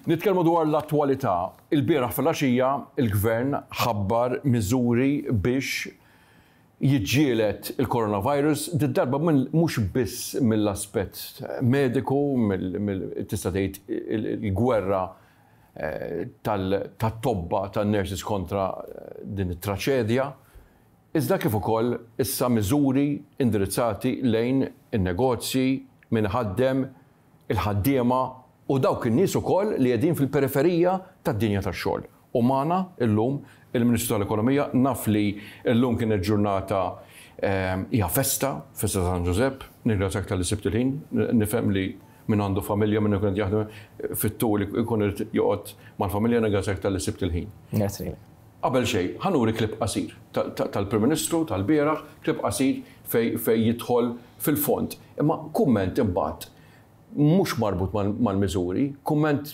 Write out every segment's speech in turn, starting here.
Nitkellmu dwar l-attwalità. Ilbieraħ filgħaxija il-Gvern ħabbar miżuri biex jiġġieled il-coronavirus, did-darba mhux biss mill-aspett mediku, tista' tgħid il-gwerra tat-tobba, tan-nurses kontra din it-traċedja, iżda kif ukoll issa miżuri indirizzati lejn in-negozji, min iħaddem, il-ħaddiema u dawk in-nies ukoll li qegħdin fil-periferija tad-dinja tax-xogħol. U magħna llum il-Ministru tal-Ekonomija, naf li llum kienet ġurnata hija festa, festa ta' San Ġużepp, nirringrazzjak talli sibt il-ħin, nifhem li min għandu familja, min ikun qed jaħdem fit-tul ikun irid joqgħod mal-familja, nirringrazzjak talli sibt il-ħin. Grazzi lilek. Qabel xejn, ħa nuri clip qasir tal-Prim Ministru tal-bieraħ, clip qasir fejn jidħol fil-fond. Imma kumment imbagħad mhux marbut mal-miżuri, kumment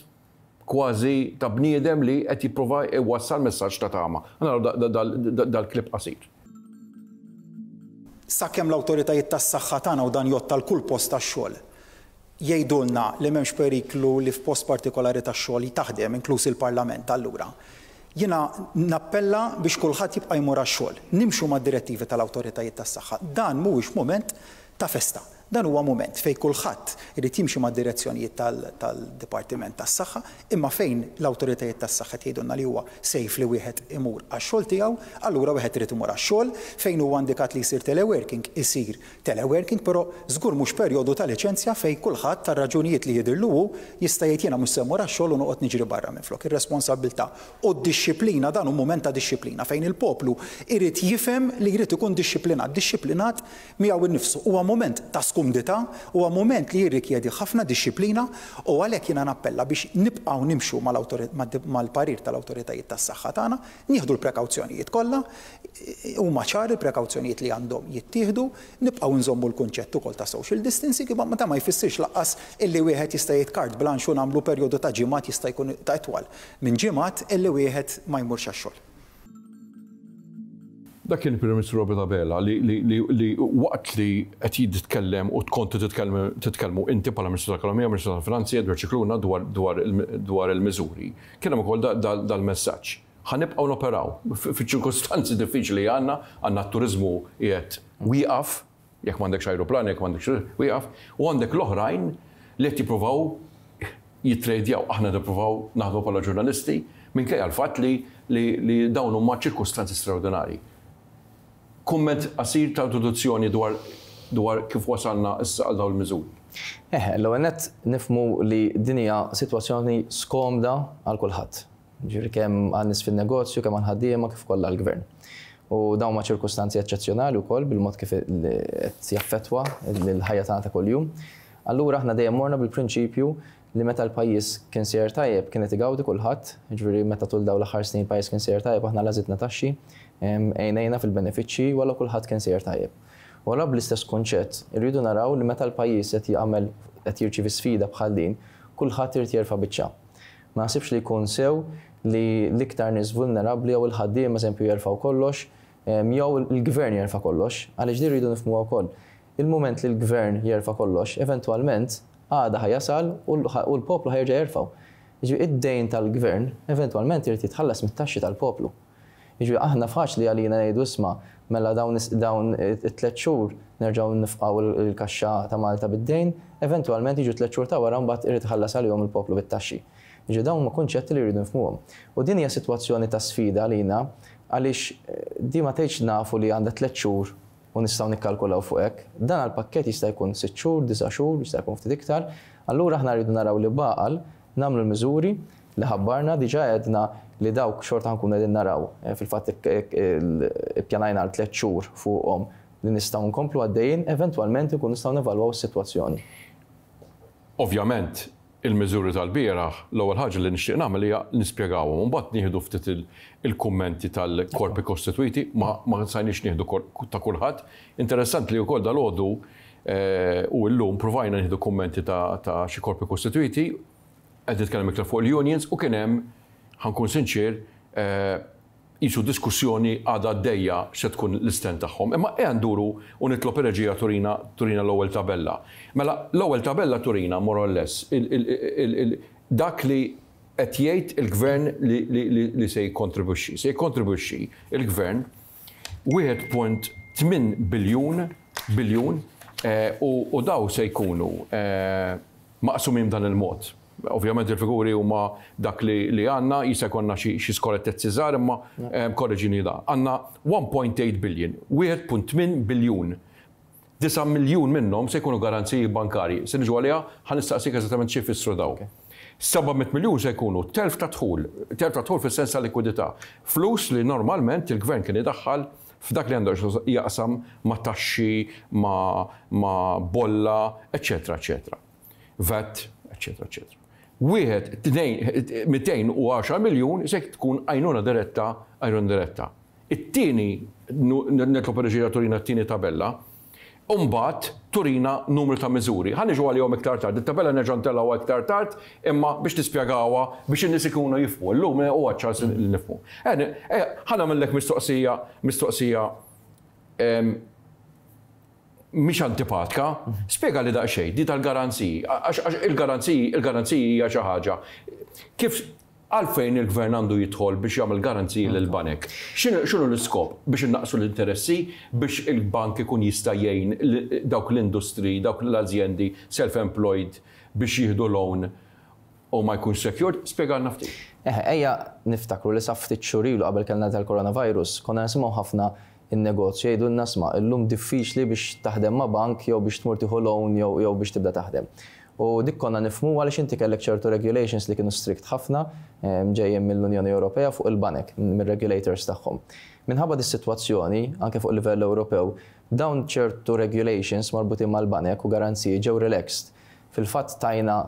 kważi ta' bniedem li qed jipprova jwassal messaġġ ta' tama. Ħa naraw dal-clip qasir. Sakemm l-awtoritajiet tas-saħħa tagħna u dan jgħodd għal kull post tax-xogħol, jgħidulna li m'hemmx periklu li f'post partikolari tax-xogħol taħdem, inkluż il-Parlament, allura jiena nappella biex kulħadd jibqa' jmur għax-xogħol. Nimxu mad-direttivi tal-awtoritajiet tas-saħħa. Dan mhuwiex mument ta' festa. Dan huwa mument fejn kulħadd irid jimxi mad-direzzjonijiet tal-Dipartiment tas-Saħħa, imma fejn l-awtoritajiet tas-saħħa qed jgħidulna li huwa safe li wieħed imur għax-xogħol tiegħu, allura wieħed irid imur għax-xogħol. Fejn huwa indikat li jsir teleworking, isir teleworking, però żgur mhux perjodu ta' liċenzja fejn kulħadd għal raġunijiet li jidhirlu hu jista' jgħid jiena mhux se mmur għax-xogħol u noqgħod niġri barra minflok. Ir-responsabbiltà u d-dixxiplina, dan hu mument ta' dixxiplina fejn il-poplu jrid jifhem li jrid ikun dixxiplinat, dixxiplinat miegħu nnifsu. Huwa mument ta' skumdità, huwa mument li jirrikjedi ħafna dixxiplina u għalhekk jiena nappella biex nibqgħu nimxu mal-parir tal-awtoritajiet tas-saħħa tagħna, nieħdu l-prekawzjonijiet kollha, huma ċari l-prekawzjonijiet li għandhom jittieħdu, nibqgħu nżommu l-kunċett ukoll ta' social distancing, imma dan ma jfissirx lanqas illi wieħed jista' jgħid carte blanche u nagħmlu perjodu ta' ġimgħat jista' jkun ta' itwal minn ġimgħat illi wieħed ma jmurx għax-xogħol. Dak kien il-Prim Ministru Robert Abela li li waqt li qed jitkellem u kontu titkellmu inti bħala Ministru tal-Ekonomija, Ministru tal-Finanzi, Edward Scicluna dwar dwar dwar il-miżuri, kien hemm ukoll dal-messaġġ. Ħa nibqgħu noperaw fiċ-ċirkustanzi diffiċli li għandna, għandna t-turiżmu qiegħed wieqaf, jekk m'għandekx ajruplan, jekk m'għandekx wieqaf, u għandek l-oħrajn li qed jippruvaw jittrejdjaw. Aħna nippruvaw naħdmu bħala ġurnalisti minkejja l-fatt li li dawn huma ċirkustanzi straordinarji. Kumment qasir ta' introduzzjoni dwar dwar kif wasalna issa għal dawn il-miżuri. Eħe, l-ewwel nett nifhmu li din hija sitwazzjoni skomda għal kulħadd. Jiġifieri kemm għan-nies fin-negozju, kemm għall-ħaddiema kif ukoll għall-Gvern. U dawn huma ċirkustanzi eċċezzjonali wkoll bil-mod kif qed jaffettwa l-ħajja tagħna ta' kuljum. Allura aħna dejjem morna bil-prinċipju li meta l-pajjiż kien sejjer tajjeb kien qed igawdi kulħadd, jiġifieri meta tul dawn l-aħħar snin il-pajjiż kien sejjer tajjeb aħna la żidna taxxi, għinejna fil-benefiċċji u allura kulħadd kien sejjer tajjeb. U allura bl-istess kunċett irridu naraw li meta l-pajjiż qed jagħmel qed jirċievi sfida bħal din, kulħadd irid jerfa' biċċa. Ma naħsibx li jkun sew li l-iktar nies vulnerabbli jew il-ħaddiema eżempju jerfgħu kollox jew il-gvern jerfa' kollox, għaliex din rridu nifhmuha wkoll. Il-mument li l-gvern jerfa' kollox, eventwalment għada ħa jasal u l-poplu ħa jerġa' jerfgħu. Jiġifieri id-dejn tal-gvern eventwalment irid jitħallas mit-taxxi tal-poplu. Jiġifieri aħna faċli għalina ngħidu isma' mela dawn dawn it-tlett xhur nerġgħu nifqgħu l-kaxxa ta' Malta bid-dejn, eventwalment jiġu t-tlett xhur ta' wara mbagħad irid iħallas għalihom il-poplu bit-taxxi. Jiġifieri dawn huma kunċetti li rridu nifhmuhom. U din hija sitwazzjoni ta' sfida għalina għaliex di ma tgħidx nafu li għandha tlett xhur u nistgħu nikkalkulaw fuq hekk. Dan għall-pakkett jista' jkun sitt xhur, disa' xhur, jista' jkun ftit iktar. Allura aħna rridu naraw li b'għaqal nagħmlu l-miżuri li ħabbarna, diġà għedna li dawk xorta ħa nkunu qegħdin naraw, fil-fatt ippjanajna għal tlett xhur fuqhom li nistgħu nkomplu għaddejjin, eventwalment inkunu nistgħu nevalwaw is-sitwazzjoni. Ovvjament, il-miżuri tal-bieraħ, l-ewwel ħaġa li nixtieq nagħmel hija nispjegawhom u mbagħad nieħdu ftit il-kummenti tal-korpi kostitwiti, ma stajniex nieħdu ta' kulħadd. Interessanti li wkoll dalgħodu u llum pruvajna nieħdu kummenti ta' xi korpi kostitwiti, qed nitkellem iktar fuq il-unions u kien hemm, ħa nkun sinċier, qisu diskussjoni għadha għaddejja x'se tkun l-istand tagħhom. Imma ejja nduru u nitlob ir-reġija turina turina l-ewwel tabella. Mela, l-ewwel tabella turina more or less dak li qed jgħid il-gvern li se jikkontribwixxi? Se jikkontribwixxi il-gvern 1.8 biljun biljun u daw se jkunu maqsumin b'dan il-mod. Ovvjament il-figuri huma dak li għandna, jista' jkollna xi skorrettezzi żgħar imma korreġini da. Għandna 1.8 billion, 1.8 biljun. 9 miljun minnhom se jkunu garanziji bankarji. Se niġu għaliha, ħa nistaqsik eżattament xi jfissru dawn. 700 miljun se jkunu telf ta' dħul, telf ta' dħul fis-sens ta' likwidità. Flus li normalment il-gvern kien idaħħal f'dak li għandu jaqsam ma' taxxi, ma' bolla, eċċetera, eċċetera. VAT, eċċetera, eċċetera. Wieħed, tnejn, 210 miljun se tkun għajnuna diretta, għajnuna diretta. It-tieni, nitlob ir-reġija turina t-tieni tabella, u mbagħad turina numru ta' miżuri. Ħa niġu għalihom iktar tard. It-tabella nerġa' ntellgħuha iktar tard, imma biex nispjegawha biex in-nies ikunu jifhmu. Illum huwa ċ-ċans li nifhmu. Ħa nagħmellek mistoqsija, mistoqsija mhix antipatka, spjegali daqsxejn di tal-garanziji, għax il-garanziji, il-garanziji hija xi ħaġa. Kif Għalfejn il-Gvern għandu jidħol biex jagħmel garanziji lill-banek? X'inhu l-iskop? Biex innaqqsu l-interessi? Biex il-bank ikun jista' jgħin dawk l-industriji, dawk l-azjendi self-employed biex jieħdu loan u ma jkunx secured? Spjegalna ftit. Eħe, ejja niftakru li sa ftit xhur ilu qabel kellna dal-coronavirus, konna nisimgħu ħafna in-negozju jgħidulna isma' illum diffiċli biex taħdem ma' bank jew biex tmur tieħu loan jew jew biex tibda taħdem. U dik konna nifhmuha għaliex inti kellek ċertu regulations li kienu strict ħafna ġejjin mill-Unjoni Ewropea fuq il-banek, mir-regulators tagħhom. Minħabba dis-sitwazzjoni, anke fuq livell Ewropew, dawn ċertu regulations marbutin mal-banek u garanziji ġew relaxed. Fil-fatt tajna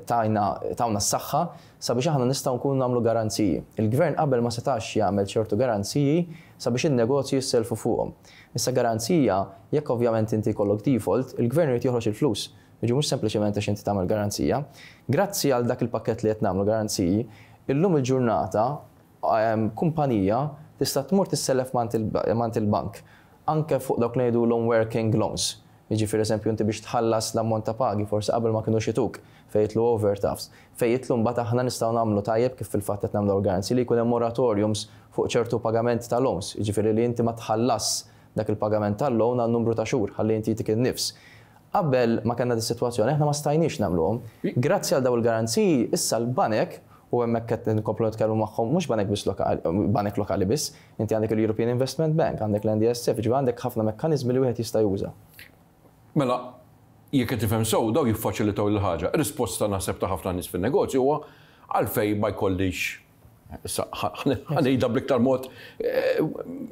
tajna tawna s-saħħa sabiex aħna nistgħu nkunu nagħmlu garanziji. Il-Gvern qabel ma setax jagħmel ċertu garanziji sabiex in-negozji jissellfu fuqhom. Issa garanzija, jekk ovvjament inti jkollok default, il-Gvern irid joħroġ il-flus. Jiġifieri mhux sempliċement għax inti tagħmel garanzija. Grazzi għal dak il-pakkett li qed nagħmlu garanziji, illum il-ġurnata kumpanija tista' tmur tissellef m'għand il-bank anke fuq dawk li ngħidulhom working loans. Jiġifieri eżempju inti biex tħallas l-ammont ta' pagi forsi qabel ma kinux ituk, fejn jidħlu overdrafts, fejn jidħlu mbagħad aħna nistgħu nagħmlu tajjeb kif fil-fatt qed nagħmlu garanziji li jkun hemm moratoriums fuq ċertu pagamenti ta' loans, jiġifieri li inti ma tħallasx dak il-pagament tal-loan għal numru ta' xhur ħalli inti jtik in-nifs. Qabel ma kellna dis-sitwazzjoni aħna ma stajniex nagħmluhom. Grazzi għal dawn il-garanziji issa l-banek u hemmhekk qed nkomplu nitkellmu magħhom mhux banek biss lokali, banek lokali biss, inti għandek il-European Investment Bank, għandek l-NDSF, jiġifieri għandek ħafna mekkaniżmi li wieħed jista' juża. Mela, jekk qed nifhem sew, dawn jiffaċilitaw il-ħaġa. Ir-risposta naħseb ta' ħafna nies fin-negozju huwa għalfejn ma jkollix, issa ħa ngħidha bl-iktar mod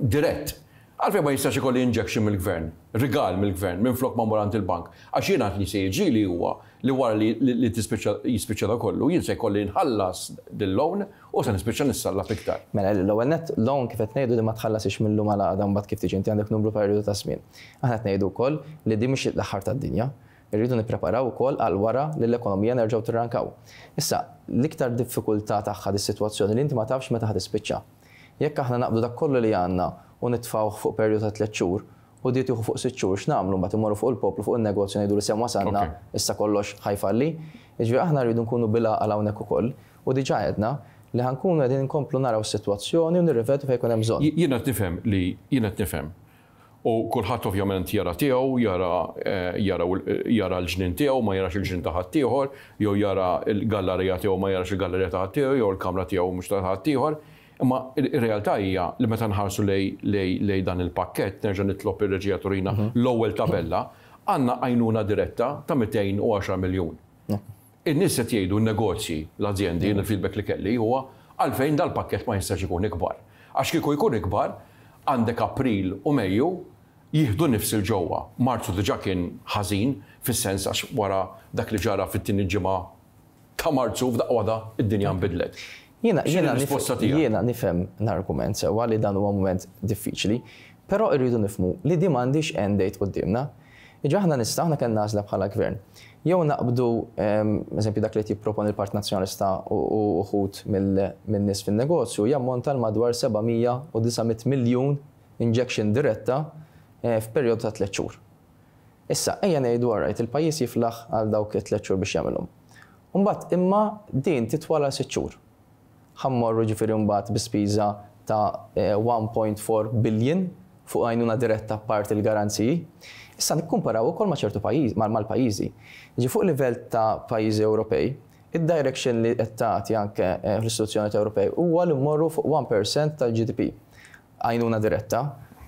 dirett, għalfejn ma jistax ikolli injection mill-gvern, rigal mill-gvern, minflok ma mmur għand il-bank. Għax jiena li se jiġrili huwa li wara li tispiċċa jispiċċa da kollu, jien se jkolli nħallas dil-loan u se nispiċċa nissallab iktar. Mela, l-ewwel nett, loan kif qed ngħidu li ma tħallasix mil-lum għal għada mbagħad kif tiġi inti għandek numru perjodu ta' żmien. Aħna qed ngħidu wkoll li din mhix l-aħħar tad-dinja. Irridu nippreparaw ukoll għal wara li l-ekonomija nerġgħu tirrankaw. Issa, l-iktar diffikultà tagħha dis-sitwazzjoni li inti ma tafx meta ħa tispiċċa. Jekk aħna naqbdu dak kollu li għandna u nitfgħuh fuq perjodu ta' tliet xhur, u di tieħu fuq sitt xhur, x'nagħmlu mbagħad immorru fuq il-poplu, fuq in-negozju ngħidu li semm wasalna, issa kollox ħa jfalli? Jiġifieri aħna rridu nkunu bil-għaqal hawnhekk ukoll u diġà għedna li ħa nkunu qegħdin inkomplu naraw is-sitwazzjoni u nirrivedu fejn ikun hemm bżonn. Jien qed nifhem li jien qed nifhem U kulħadd ovvjament jara tiegħu, jara jara jara l-ġnien tiegħu ma jarax il-ġnien ta' ħaddieħor, jew jara l-gallarija tiegħu ma jarax il-gallarija ta' ħaddieħor, jew il-kamra tiegħu mhux ta' ħaddieħor. Imma r-realtà hija li meta nħarsu lejn lejn lejn dan il-pakkett, nerġa' nitlob ir-reġija turina l-ewwel tabella, għandna għajnuna diretta ta' 210 miljun. In-nies qed jgħidu, n-negozji, l-azjendi, jien il-feedback li kelli huwa għalfejn dal-pakkett ma jistax ikun ikbar. Għax kieku jkun ikbar, għandek April u Mejju jieħdu nifs 'il ġewwa. Marzu diġà kien ħażin fis-sens għax wara dak li ġara fit-tieni ġimgħa ta' Marzu f'daqqa waħda d-dinja nbidlet. Jiena X'inhi jiena r-risposta tiegħek? Jiena nifhem l-argument sewwa li dan huwa mument diffiċli, però rridu nifhmu li din m'għandhiex end date quddiemna. Jiġifieri aħna nistgħu, aħna kellna għażla bħala gvern. Jew naqbdu, eżempju dak li qed jipproponi l-Partit Nazzjonalista u uħud min-nies fin-negozju jammonta għal madwar 700 u 900 miljun injection diretta f'perjodu ta' tliet xhur. Issa, ejja ngħidu all right, il-pajjiż jiflaħ għal dawk it-tliet xhur biex jagħmilhom. Mbagħad imma din titwal għal 6 xhur. Ħa mmorru ġifieri mbagħad bi spiża ta' 1.4 billion fuq għajnuna diretta apparti l-garanziji. Issa nikkumparaw ukoll ma' ċertu pajjiż, mal-pajjiżi. Jiġi fuq livell ta' pajjiżi Ewropej, id-direction li qed tagħti anke fl-istituzzjonijiet Ewropej huwa li mmorru fuq 1% tal-GDP. Għajnuna diretta.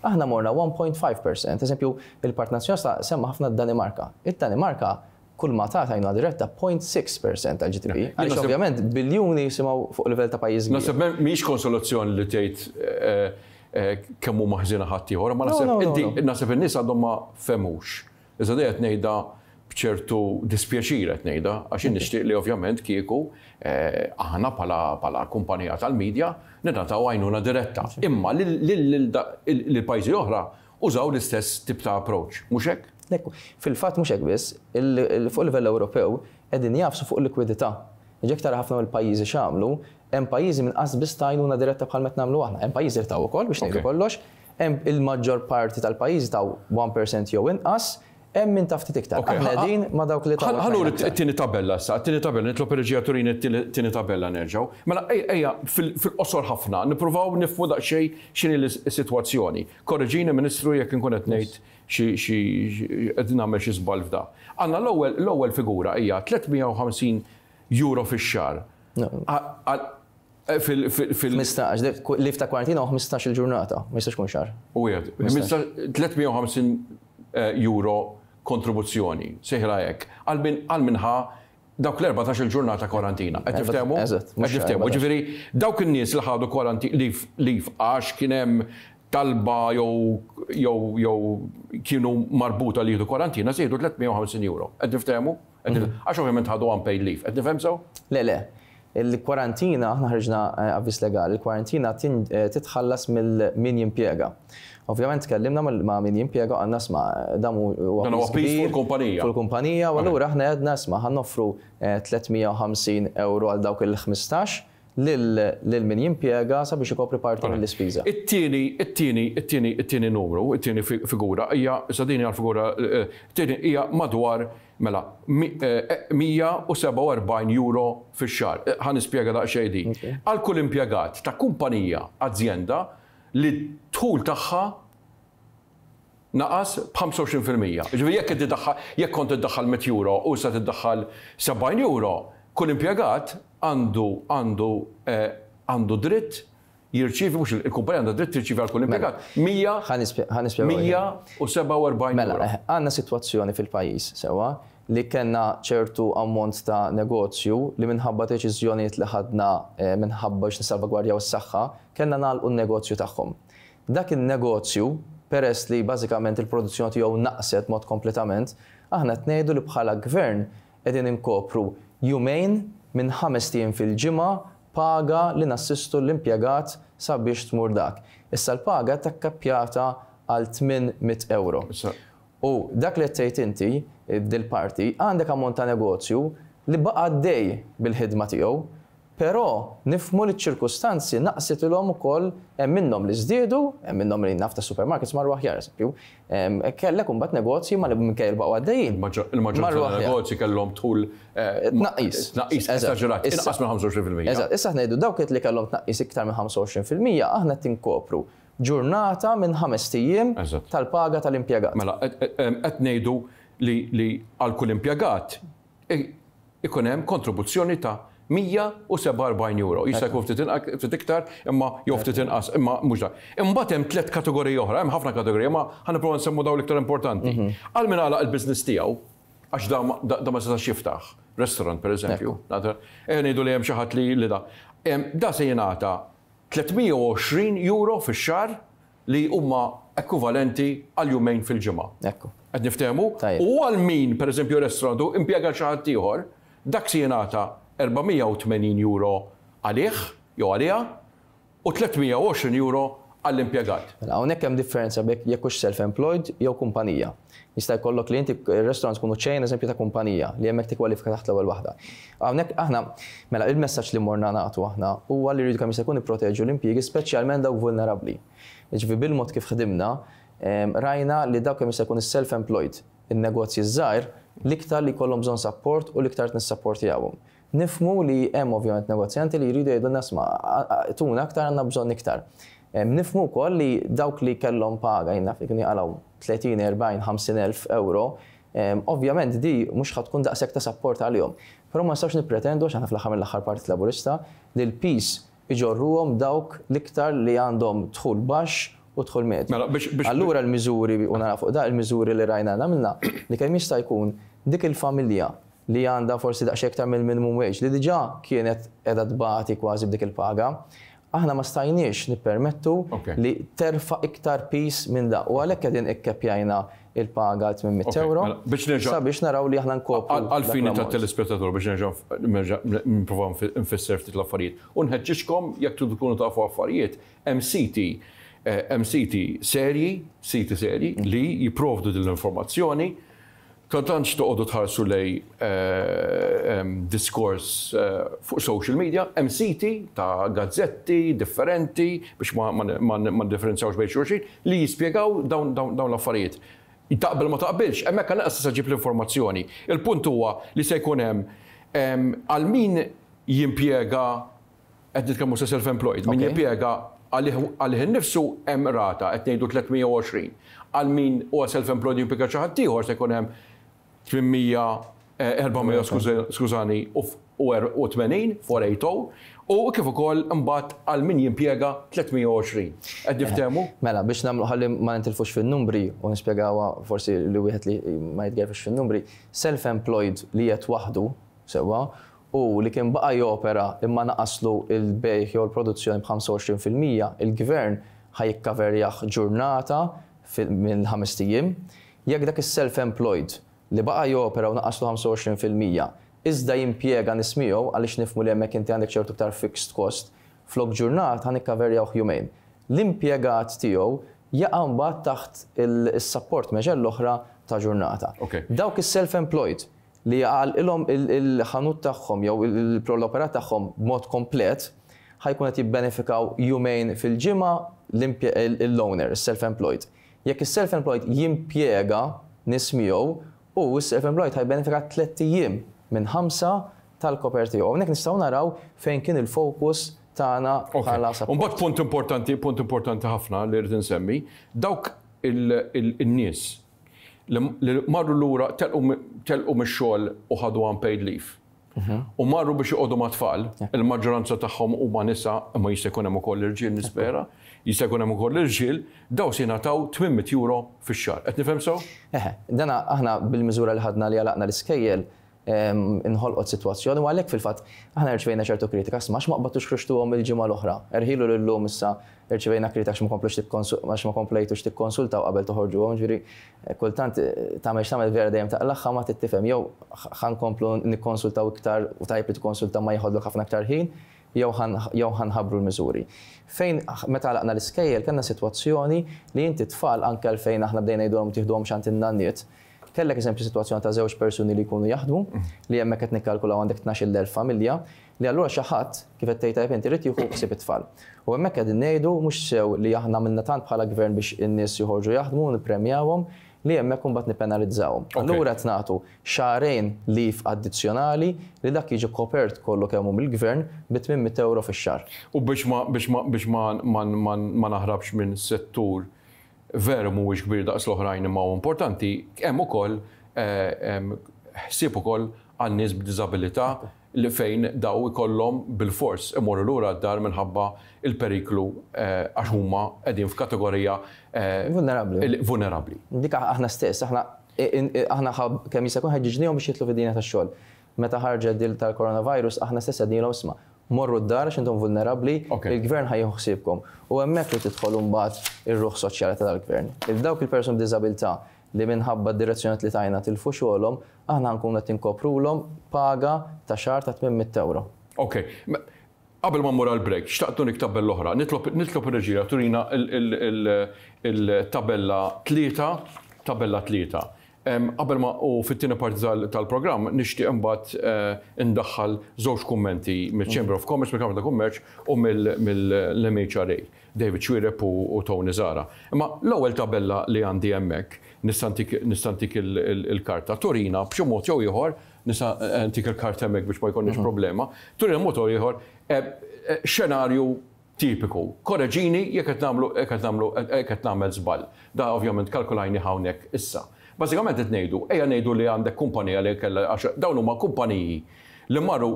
Aħna morna 1.5%. Eżempju, il-Partit Nazzjonalista semma ħafna d-Danimarka. Id-Danimarka kull ma tat għajnuna diretta 0.6% tal-GDP. Għaliex ovvjament biljuni jisimgħu fuq livell ta' pajjiż kbir. Naħseb mhijiex konsolazzjoni li tgħid kemm huma ħżiena ħaddieħor, ma naħseb inti naħseb in-nies għadhom ma fehmux. Iżda dejjem qed ngħidha b'ċertu dispjaċir qed ngħidha għax jien nixtieq li ovvjament kieku aħna bħala kumpanija tal-media ningħataw għajnuna diretta. Imma lil pajjiżi oħra użaw l-istess tip ta' approach, mhux hekk? Ekku. Fil-fatt mhux hekk biss, fuq livell Ewropew qegħdin jagħfsu fuq il-likwidità. Jekk tara ħafna mill-pajjiżi x'għamlu, hemm pajjiżi minn qas biss ta għajnuna diretta bħal qed nagħmlu aħna. Hemm pajjiżi li taw ukoll biex ngħidu kollox, hemm il-maġġor parti tal-pajjiżi taw 1% jew inqas, hemm min ta ftit iktar. Aħna qegħdin ma' dawk li taw. Ħa nuri t-tieni tabella issa, t-tieni tabella, nitlob ir-reġija turini t-tieni tabella nerġgħu. Mela ejja fil-qosor ħafna nippruvaw nifhmu daqsxejn x'inhi s-sitwazzjoni. Korreġini Ministru jekk inkun qed ngħid xi xi qed nagħmel xi żball f'da. Għandna l-ewwel l-ewwel figura hija 350 euro fix-xahar. Fil fil 15, leave ta' kwarantina u 15 il-ġurnata, ma jistax ikun xahar. U wieħed, 350 euro kontribuzzjoni, sejħilha hekk, għal min għal min ħa dawk l-14 il-ġurnata kwarantina. Qed niftehmu? Eżatt. Qed niftehmu. Ġifieri dawk in-nies li ħadu leave leave għax kien hemm talba jew jew jew kienu marbuta li jieħdu kwarantina se jieħdu 350 euro. Qed niftehmu? Għax ovvjament ħadu unpaid leave. Qed nifhem sew? Le, le. Il-kwarantina, aħna ħriġna avviż legali, il-kwarantina titħallas mill min jimpjega. Ovvjament tkellimna ma' min jimpjega u qalna isma' dan huwa Dan huwa piż fuq il-kumpanija. Fuq il-kumpanija u allura aħna għedna isma' ħa noffru 350 ewro għal dawk il-15 lil min jimpjega sabiex ikopri parti mill-ispiża. It-tieni, it-tieni, it-tieni, it-tieni numru, it-tieni figura hija, issa din hija l-figura, it-tieni hija madwar mela 147 euro fix-xahar. Ħa nispjega daqsxejn din. Għal kull impjegat ta' kumpanija, azjenda, li d-dħul tagħha naqas b'25%. Jiġifieri jekk inti daħħal, jekk kont iddaħħal 100 euro u issa tiddaħħal 70 euro, kull impjegat għandu għandu għandu dritt jirċievi, mhux il-kumpanija għandha dritt tirċievi għal kull impjegat 147 Mela, euro. għandna sitwazzjoni fil-pajjiż, sewwa, li kellna ċertu ammont ta' negozju li minħabba deċiżjonijiet li ħadna minħabba biex nissalvagwardjaw is-saħħa, kellna nagħlqu n-negozju tagħhom. Dak in-negozju, peress li bażikament il-produzzjoni tiegħu naqset mod kompletament, aħna qed ngħidu li bħala Gvern qegħdin inkopru jumejn minn ħamest ijiem fil-ġimgħa paga li nassistu l-impjegat sabiex tmur dak. Issa l-paga takkappjata għal 800 ewro. U dak li qed tgħid inti, dil-parti, għandek ammont ta' negozju li baqa' għaddej bil-ħidma tiegħu, Però nifhmu li ċ-ċirkustanzi naqsitilhom ukoll, hemm minnhom li żdiedu, hemm minnhom li naf ta' supermarkets marru aħjar, eżempju. Kellek imbagħad negozji ma li minkejja li baqgħu għaddejjin. Il-maġġoranza tan-negozji kellhom dħul Tnaqqis. Tnaqqis esaġerat, inqas minn 25%. Eżatt, issa aħna ngħidu dawk li kellhom tnaqqis iktar minn 25% aħna qed inkopru ġurnata minn ħamest ijiem tal-paga tal-impjegat. Mela, qed ngħidu li għal kull impjegat ikun hemm kontribuzzjoni ta' 147 euro. Jista' jkun ftit ftit iktar, imma jew ftit inqas, imma mhux dak. Imbagħad hemm tliet kategoriji oħra, hemm ħafna kategoriji, imma ħa nipprova nsemmu dawn l-iktar importanti. Għal min għalaq il-business tiegħu, għax da da ma setax jiftaħ, restaurant pereżempju, ejja ngħidu li hemm xi ħadd li da. Da se jingħata 320 euro fix-xahar li huma ekwivalenti għal jumejn fil-ġimgħa. Ekku. Qed niftehmu? Tajjeb. U għal min, pereżempju, restaurant u impjega xi ħadd ieħor, dak se jingħata 480 euro għalih jew għaliha u 320 euro għall-impjegat. Mela hawnhekk hemm differenza bejn jekk hux self-employed jew kumpanija. Jista' jkollok li inti r-restaurant tkunu chain eżempju ta' kumpanija li hemmhekk tikkwalifika taħt l-ewwel waħda. Hawnhekk aħna, mela il-messaġġ li morna nagħtu aħna huwa li rridu kemm jista' jkun nipproteġu l-impjiegi speċjalment dawk vulnerabbli. Jiġifieri bil-mod kif ħdimna, rajna li dawk kemm jista' jkun is-self-employed, in-negozji ż-żgħir, l-iktar li jkollhom bżonn sapport u l-iktar qed nissapportjawhom. Nifhmu li hemm ovvjament negozjanti li jridu jgħidulna isma' tuna aktar għandna bżonn iktar. Nifhmu wkoll li dawk li kellhom paga, jien naf li kienu jaqalgħu 30, 40, 50 elf ewro, ovvjament di mhux ħa tkun daqshekk ta' sapport għalihom. Però ma nistgħux nippretendu, għax aħna fl-aħħar mill-aħħar Partit Laburista, li l-piż iġorruhom dawk l-iktar li għandhom dħul baxx u dħul medju. Mela, biex, biex, Allura l-miżuri, u nagħlaq fuq da, il-miżuri li rajna għamilna, li kemm jista' jkun dik il-familja li għandha forsi daqsxejn iktar mill-minimum wage, li diġà kienet qiegħda tbati kważi b'dik il-paga, aħna ma stajniex nippermettu li terfa' iktar piż minn da. U għalhekk qegħdin ikkeppjajna il-paga għal 800 ewro sabiex naraw li aħna nkopru. Għall-fini tat-telespettatur biex nerġa' nipprova nfisser ftit l-affarijiet. U nħeġġiġkom jekk tridu tkunu tafu affarijiet, hemm siti hemm siti serji, siti serji li jipprovdu din l-informazzjoni. Ta' tantx toqogħdu tħarsu lejn diskors fuq social media, hemm siti ta' gazzetti differenti biex ma niddifferenzjawx bejn xulxin li jispjegaw dawn l-affarijiet. Taqbel ma taqbilx, hemmhekk għall-inqas tista' ġġib l-informazzjoni. Il-punt huwa li se jkun hemm għal min jimpjega, qed nitkellmu sa self-employed, min jimpjega għalih innifsu hemm rata, qed ngħidu 320. Għal min huwa self-employed jimpjega xi ħadd ieħor se jkun hemm 800, 400 skużani, u 80, 480, u kif ukoll imbagħad għal min jimpjega 320. Qed niftehmu? Mela, biex nagħmlu ħalli ma nintilfux fin-numri u nispjegawha forsi li wieħed li ma jitgerfx fin-numri, self-employed li qed waħdu sewwa u li kien baqa' jopera imma naqaslu l-bejgħ jew l-produzzjoni b'25%, il-Gvern ħa jikkaverjah ġurnata minn ħamest ijiem. Jekk dak is-self-employed li baqa' jopera u naqaslu 25% iżda jimpjega nies miegħu, għaliex nifhmu li hemmhekk inti għandek ċertu iktar fixed cost, flok ġurnata ħa nikkaverjawh jumejn. L-impjegat tiegħu jaqa' mbagħad taħt is-support measure l-oħra ta' ġurnata. Dawk is-self-employed li jagħalqilhom il-ħanut tagħhom jew l-operat tagħhom b'mod komplet, ħa jkun qed jibbenefikaw jumejn fil-ġimgħa l-owner, is-self-employed. Jekk is-self-employed jimpjega nies miegħu, hu s-self-employed ħa jibbenefika tlett ijiem minn ħamsa tal-koper tiegħu. Hawnhekk nistgħu naraw fejn kien il-fokus tagħna bħala support. Imbagħad punt importanti, punt importanti ħafna li rrid insemmi, dawk in-nies li marru lura telqu mix-xogħol u ħadu unpaid leave. U marru biex joqogħdu mat-tfal, il-maġġoranza tagħhom huma nisa, imma jista' jkun hemm ukoll irġiel nispera, jista' jkun hemm ukoll irġiel, daw se jingħataw 800 euro fix-xahar. Qed nifhem sew? Eħe, dana aħna bil-miżura li ħadna li għalaqna l-iskejjel inħolqot sitwazzjoni u għalhekk fil-fatt aħna rċevejna ċertu kritika, isma' għax ma qbadtux ħriġtuhom il-ġimgħa l-oħra. Erħilu li llum issa rċevejna kritika għax ma komplux għax ma komplejtux tikkonsultaw qabel toħorġuhom, ġifieri kultant tagħmel x'tagħmel vera dejjem taqlagħha ma trid tifhem jew ħa nkomplu nikkonsultaw iktar u tajjeb li tikkonsulta ma jeħodlok ħafna aktar ħin jew jew ħa nħabbru l-miżuri. Fejn meta għalaqna l-iskejjel kellna sitwazzjoni li inti t-tfal anke għalfejn aħna bdejna ngħidulhom tieħduhomx għand in-nanniet, Kellek eżempju sitwazzjoni ta' żewġ persuni li jkunu jaħdmu, li hemmhekk qed nikkalkulaw għandek 12,000 familja, li allura xi ħadd, kif qed tgħid tajjeb inti, irid jieħu ħsieb it-tfal. U hemmhekk qegħdin ngħidu mhux sew li aħna għamilna tant bħala gvern biex in-nies joħorġu jaħdmu u nippremjawhom, li hemmhekk imbagħad nippenalizzawhom. Allura qed nagħtu xahrejn leave addizzjonali li dak jiġi kopert kollu kemm hu mill-gvern bi 800 ewro fix-xahar. U biex ma biex ma biex ma ma ma naħrabx minn settur veru mhuwiex kbir daqs l-oħrajn imma huwa importanti, hemm ukoll ħsieb ukoll għal nies b'diżabilità li fejn daw ikollhom bilfors imorru lura d-dar minħabba l-periklu għax huma qegħdin f'kategorija Vulnerabbli. Vulnerabbli. Dik aħna stess, aħna aħna kemm jista' jkun ħeġġiġnihom biex jidħlu fid-dinja tax-xogħol. Meta ħarġet dil tal-coronavirus aħna stess għednilhom isma' Morru d-dar għax intom vulnerabbli, il-gvern ħa jieħu ħsiebkom. U hemmhekk li tidħol imbagħad ir-ruħ soċjali ta' dal-gvern. Il dawk il-persuni b'diżabilità li minħabba d-direzzjonijiet li tajna tilfu xogħolhom, aħna ħa nkunu qed inkoprulhom paga ta' xahar ta' 800 ewro. Ok. Qabel ma mmur għall-break, xtaqt nurik tabella oħra. Nitlob nitlob ir-reġija turina l-tabella tlieta, tabella tlieta. Qabel ma u fit-tieni parti tal-programm nixtieq imbagħad indaħħal żewġ kummenti mill-Chamber of Commerce, mill-Kamra ta' Kummerċ u mill-MHRA, David Xuereb u Tony Zahra. Imma l-ewwel tabella li għandi hemmhekk, nista' ntik nista' ntik il-karta, turina b'xi mod jew ieħor nista' ntik il-kart hemmhekk biex ma jkollniex problema. Turina mod ieħor xenarju tipiku. Korreġini jekk qed nagħmlu jekk qed nagħmlu jekk qed nagħmel żball. Da ovvjament kalkulajni hawnhekk issa. Bażikament qed ngħidu, ejja ngħidu li għandek kumpanija li kellha għax dawn huma kumpaniji li marru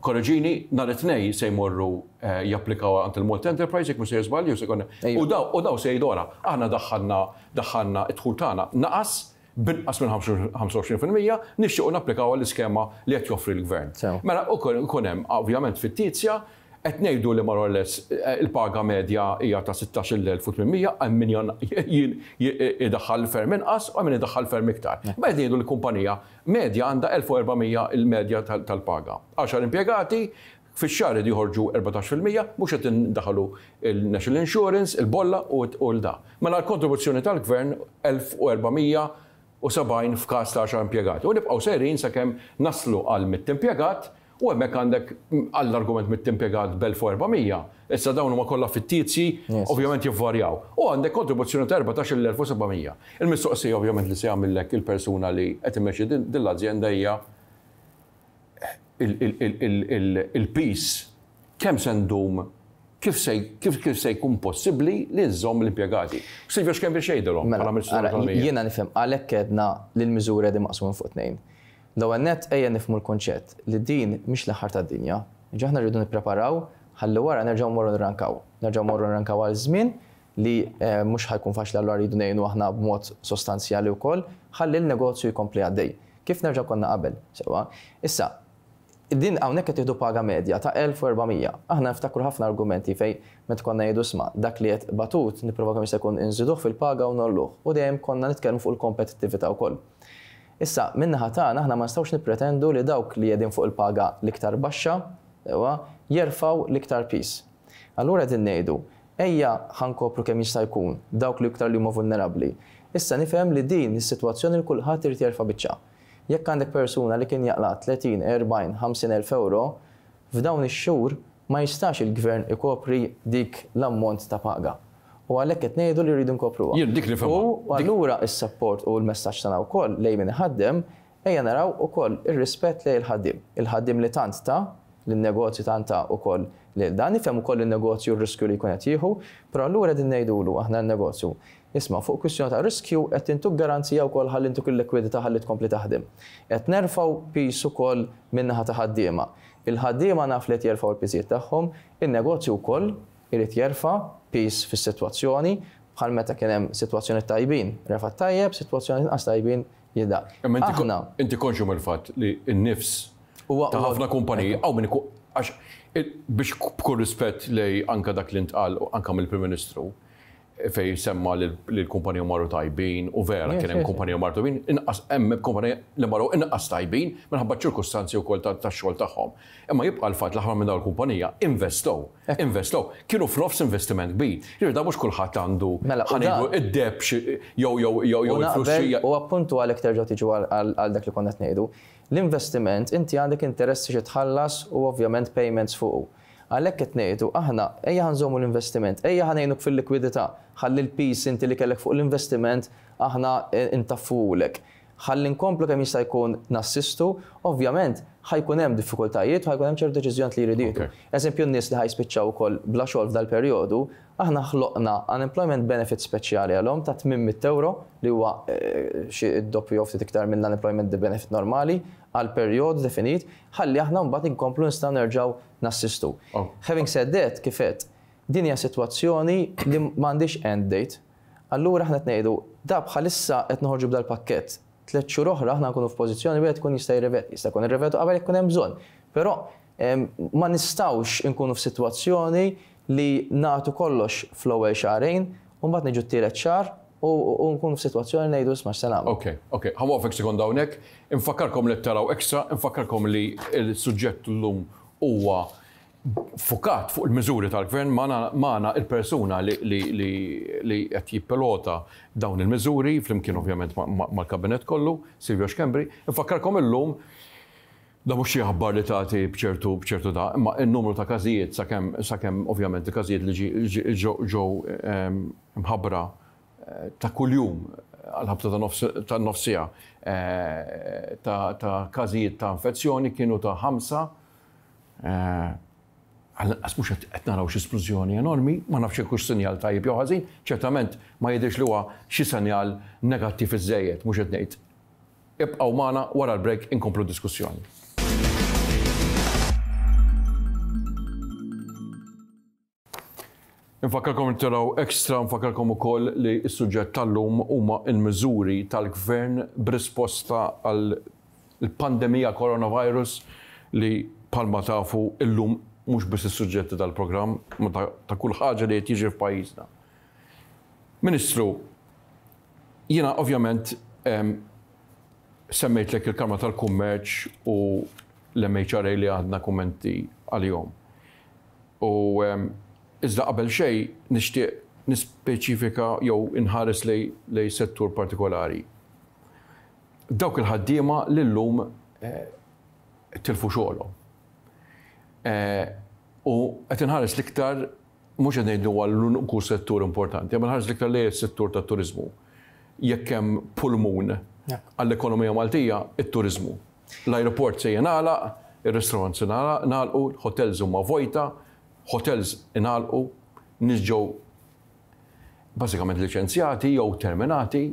korreġini nhar it-Tnejn se jmorru japplikaw għand il-Malta Enterprise jekk mhux sejjer żball jew se jkun u daw u daw se jgħidu ara aħna daħħalna daħħalna d-dħul tagħna naqas b'inqas minn 25% nixtiequ napplikaw għall-iskema li qed joffri l-Gvern. Mela ikun hemm ovvjament fittizja, qed ngħidu li more or less il-paga medja hija ta' 16,800, hemm min idaħħal ferm inqas u hemm min idaħħal ferm iktar. Imma qed ngħidu li kumpanija medja għandha 1400 il-medja tal-paga. Għaxar impjegati, fix-xahar iridu joħorġu 14%, mhux qed indaħħlu il-National Insurance, il-bolla u l-da. Mela l-kontribuzzjoni tal-Gvern 1470 f'każ ta' għaxar impjegati. U nibqgħu sejrin sakemm naslu għal mitt impjegat u hemmhekk għandek għall-argument mitt impjegat b'1400, issa dawn huma kollha fittizji, ovvjament jivvarjaw. U għandek kontribuzzjoni ta' 14,700. Il-mistoqsija ovvjament li se jagħmillek il-persuna li qed imexxi din l-azjenda hija il-piż kemm se ndum kif se kif se jkun possibbli li nżomm l-impjegati. Silvio Schembri x'jgħidilhom bħala Ministru tal-Ekonomija? Jiena nifhem għalhekk għedna li l-miżuri qegħdin maqsumin fuq tnejn. L-ewwel nett ejja nifhmu l-kunċett li din mhix l-aħħar tad-dinja. Jiġifieri aħna rridu nippreparaw ħalli wara nerġgħu mmorru nirrankaw. Nerġgħu mmorru nirrankaw għal żmien li mhux ħa jkun faċli allura rridu ngħinu aħna b'mod sostanzjali wkoll ħalli l-negozju jkompli għaddej. Kif nerġgħu konna qabel, sewwa. Issa, din hawnhekk qed tieħdu paga medja ta' 1400. Aħna niftakru ħafna argumenti fejn meta konna ngħidu isma' dak li qed batut nipprovaw kemm jista' jkun inżiduh fil-paga u ngħolluh u dejjem konna nitkellmu fuq il-kompetittività wkoll. Issa, min-naħa tagħna aħna ma nistgħux nippretendu li dawk li qegħdin fuq il-paga l-iktar baxxa, sewwa, jerfgħu l-iktar piż. Allura qegħdin ngħidu, ejja ħa nkopru kemm jista' jkun dawk li iktar li huma vulnerabbli. Issa nifhem li din hi sitwazzjoni li kulħadd irid jerfa' biċċa. Jekk għandek persuna li kien jaqla' 30, 40, 50 elf ewro, f'dawn ix-xhur ma jistax il-Gvern ikopri dik l-ammont ta' paga. U għalhekk qed ngħidu li rridu nkopruha. Jien dik nifhimha. U allura s-sapport u l-messaġġ tagħna wkoll lejn min iħaddem, ejja naraw ukoll ir-rispett lejn il-ħaddiem. Il-ħaddiem li tant ta, lin-negozju tant ta ukoll lil dan. Nifhem ukoll in-negozju r-riskju li jkun qed jieħu, però allura qegħdin ngħidulu aħna n-negozju, isma' fuq kwistjoni ta' riskju qed intuk garanzija wkoll ħalli ntuk il-likwidità ħalli tkompli taħdem. Qed nerfgħu piż ukoll min-naħa ta' ħaddiema. Il-ħaddiema naf li qed jerfgħu l-piżijiet tagħhom, in-negozju wkoll irid jerfa' piż fis-sitwazzjoni bħal meta kien hemm sitwazzjonijiet tajbin refa' t-tajjeb, sitwazzjonijiet inqas tajbin jida. Imma inti inti konxju mill-fatt li n-nifs ta' ħafna kumpaniji hawn min ikun għax biex b'kull rispett lej anke dak li ntqal anke mill-Prim Ministru fejn semma li l-kumpaniji marru tajbin u vera kien hemm kumpaniji marru tajbin, inqas hemm kumpaniji li marru inqas tajbin minħabba ċ-ċirkustanzi wkoll tax-xogħol tagħhom. Imma jibqa' l-fatt li ħafna minn dawn il-kumpanija investow, investow, kienu f'nofs investiment kbir. Jiġifieri dan mhux kulħadd għandu Mela, ħa ngħidu id-deheb xi jew jew jew jew il-flus xi. U appuntu għalhekk terġgħu tiġu għal dak li konna qed ngħidu. L-investiment inti għandek interessi xi tħallas u ovvjament payments fuqu. Għalhekk qed ngħidu aħna ejja ħa nżommu l-investiment, ejja ħa ngħinuk fil-likwidità, ħalli l-piż inti li kellek fuq l-investiment aħna ntaffuhulek. Ħalli nkomplu kemm jista' jkun nassistu, ovvjament ħa jkun hemm diffikultajiet u ħa jkun hemm ċertu deċiżjonijiet li jridu jieħdu. Eżempju n-nies li ħa jispiċċaw ukoll bla xogħol f'dal-perjodu, aħna ħloqna unemployment benefit speċjali għalhom ta' 800 ewro li huwa xi d-doppju jew ftit iktar mill-unemployment benefit normali għal perjodu definit ħalli aħna mbagħad inkomplu nistgħu nerġgħu nassistu. Having said that, kif għedt, din hija sitwazzjoni li m'għandhiex end date. Allura aħna qed ngħidu, da bħalissa qed noħorġu b'dal-pakkett. Tlett xhur oħra aħna nkunu f'pożizzjoni wieħed ikun jista' jirrivedi. Jista' jkun irrivedu qabel jekk ikun hemm bżonn. Però ma nistgħux inkunu f'sitwazzjoni li nagħtu kollox fl-ewwel xahrejn u mbagħad niġu t-tielet xahar u nkunu f'sitwazzjoni li ngħidu isma' x'se nagħmlu. Ok, ok. Ħa nwaqqfek sekonda hawnhekk. Infakkarkom li qed taraw Extra, infakkarkom li l-suġġett llum huwa ffukat fuq il-miżuri tal-Gvern, magħna il-persuna li qed jippilota dawn il-miżuri, flimkien ovvjament mal-Kabinett kollu, Silvio Schembri. Infakkarkom illum, da mhux xi aħbar li tagħti b'ċertu b'ċertu da, imma n-numru ta' każijiet sakemm sakemm ovvjament il-każijiet li ġew mħabbra ta' kuljum. għal-ħabta ta' nofsija ta' każijiet ta' infezzjoni kienu ta' 5. Għall-inqas mhux qed naraw xi splużjoni enormi, ma nafx jekk hux sinjal tajjeb jew ħażin, ċertament ma jidhirx li huwa xi sinjal negattiv iżżejjed, mhux qed ngħid. Ibqgħu magħna wara l-break inkomplu d-diskussjoni. Infakkarkom li taraw Extra, nfakkarkom ukoll li s-suġġett tal-lum huma l-miżuri tal-Gvern b'risposta għal pandemija coronavirus li bħalma tafu illum mhux biss is-suġġetti tal-programm, ma ta' kull ħaġa li qed jiġri f'pajjiżna. Ministru, jiena ovvjament semmejtlek il-Kamra tal-Kummerċ u l-MHRA li għandna kummenti għalihom. U iżda qabel xejn nixtieq nispeċifika jew inħares lejn settur partikolari. Dawk il-ħaddiema li llum tilfu xogħolhom. U qed inħares l-iktar mhux qed ngħid li huwa l-uniku settur importanti, imma nħares l-iktar lejn is-settur tat-turiżmu. Jekk hemm pulmun għall-ekonomija Maltija, it-turiżmu. L-ajruport se jingħalaq, ir-restaurants ingħalqu, l-hotels huma vojta, hotels ingħalqu, nies ġew bażikament liċenzjati jew terminati,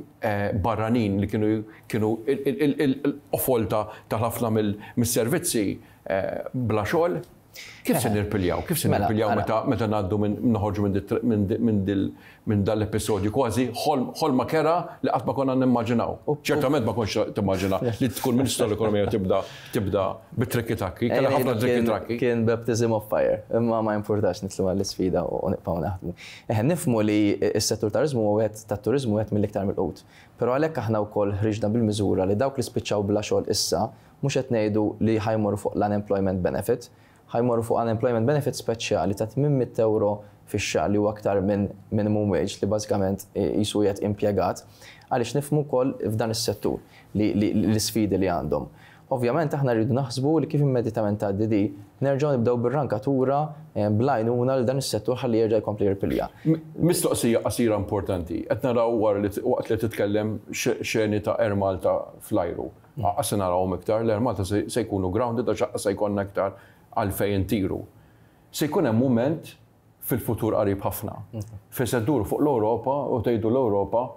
barranin li kienu kienu l-qofol ta' ħafna mis-servizzi bla xogħol. Kif se nirpiljaw? Kif se mela, nirpiljaw meta meta ngħaddu minn noħorġu minn dal-episodju kważi ħolma kera li qatt ma konna nimmaġinaw. Ċertament ma kontx timmaġina li tkun Ministru tal-Ekonomija tibda tibda bit-trikki trakki, kellha ħafna trikki trakki. Kien baptism of fire, imma ma jimpurtax nitlu għall-isfida u nibqgħu naħdmu. Eħe nifhmu li s-settur turiżmu huwa wieħed tat-turiżmu wieħed mill-iktar milqut. Però għalhekk aħna wkoll ħriġna bil-miżura li dawk li spiċċaw bla xogħol issa Mhux qed ngħidu li ħa jmorru fuq l-unemployment benefit, ħa jmorru fuq unemployment benefit speċjali ta' 800 ewro fix-xahar li huwa aktar minn minimum wage li bażikament qisu qiegħed impjegat, għaliex nifhmu wkoll f'dan is-settur li l-isfidi li għandhom. Ovvjament aħna rridu naħsbu li kif immedjatament tgħaddi di, nerġgħu nibdew bir-rankatura bl-għajnuna lil dan is-settur ħalli jerġa' jkompli jirpilja. Mistoqsija qasira importanti. Qed naraw wara li waqt li titkellem xeni ta' Air Malta fl-ajru. Aqqas se narawhom iktar, l-Air Malta se jkunu grounded għax aqqas se jkollna iktar għalfejn intiru. Se jkun hemm mument fil-futur qarib ħafna fejn se dduru fuq l-Ewropa u tgħidu l-Ewropa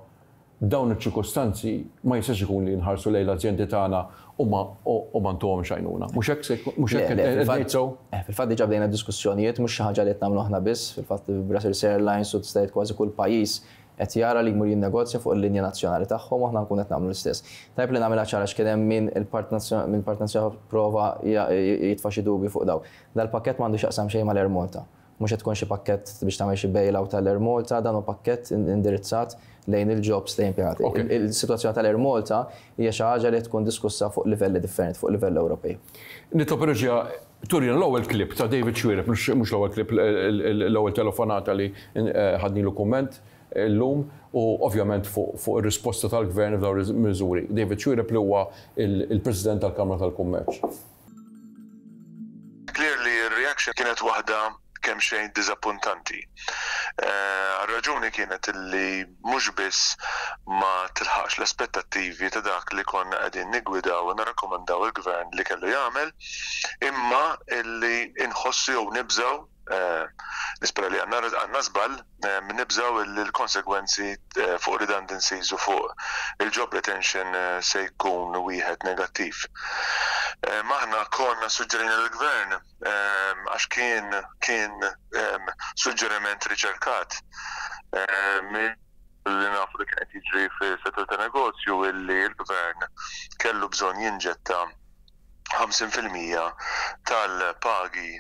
dawn iċ-ċirkustanzi ma jistax ikun li nħarsu lejn l-azjendi tagħna u ma u ma ntuhomx għajnuna. Mhux hekk se jkun, mhux hekk qed ngħid sew? Fil-fatt diġà bdejna diskussjonijiet, mhux xi ħaġa li qed nagħmlu aħna biss, fil-fatt Brussels Airlines u tista' tgħid kważi kull pajjiż qed jara li jmur jinnegozja fuq il-linja nazzjonali tagħhom u aħna nkunu qed nagħmlu l-istess. Tajjeb li nagħmilha ċara għax kien hemm min il-Partit mill-Partit Nazzjonali prova jitfa' xi dubji fuq dawn. Dal-pakkett m'għandu x'jaqsam xejn mal-Air Malta. Mhux qed tkun xi pakkett biex tagħmel xi bail-out tal-Air Malta, dan hu pakkett indirizzat lejn il-jobs lejn impjegati. Il-sitwazzjoni tal-Air Malta hija xi ħaġa li qed tkun diskussa fuq livelli differenti, fuq livell Ewropej. Nitlob ir-reġija Turina l-ewwel clip ta' David Xuereb, mhux l-ewwel clip, l-ewwel telefonata li ħadnilu kumment illum u ovvjament fuq ir-risposta tal-Gvern f'dawn il-miżuri. David Xuereb li huwa il-President tal-Kamra tal-Kummerċ. Clearly r-reaction kienet waħda kemxejn diżappuntanti. Għar-raġuni kienet li mhux biss ma tilħaqx l-aspettattivi ta' dak li konna qegħdin niggwidaw u nirrakkomandaw il-Gvern li kellu jagħmel, imma illi inħossu jew nibżgħu, nispera li għandna żball, nibżgħu illi l-konsegwenzi fuq redundancies u fuq il-job retention se jkun wieħed negattiv. Aħna konna ssuġġerejna lill-Gvern għax kien kien suġġeriment riċerkat li nafu li kien qed jiġri fis-settur ta' negozju illi l-gvern kellu bżonn jinġetta 50% tal-pagi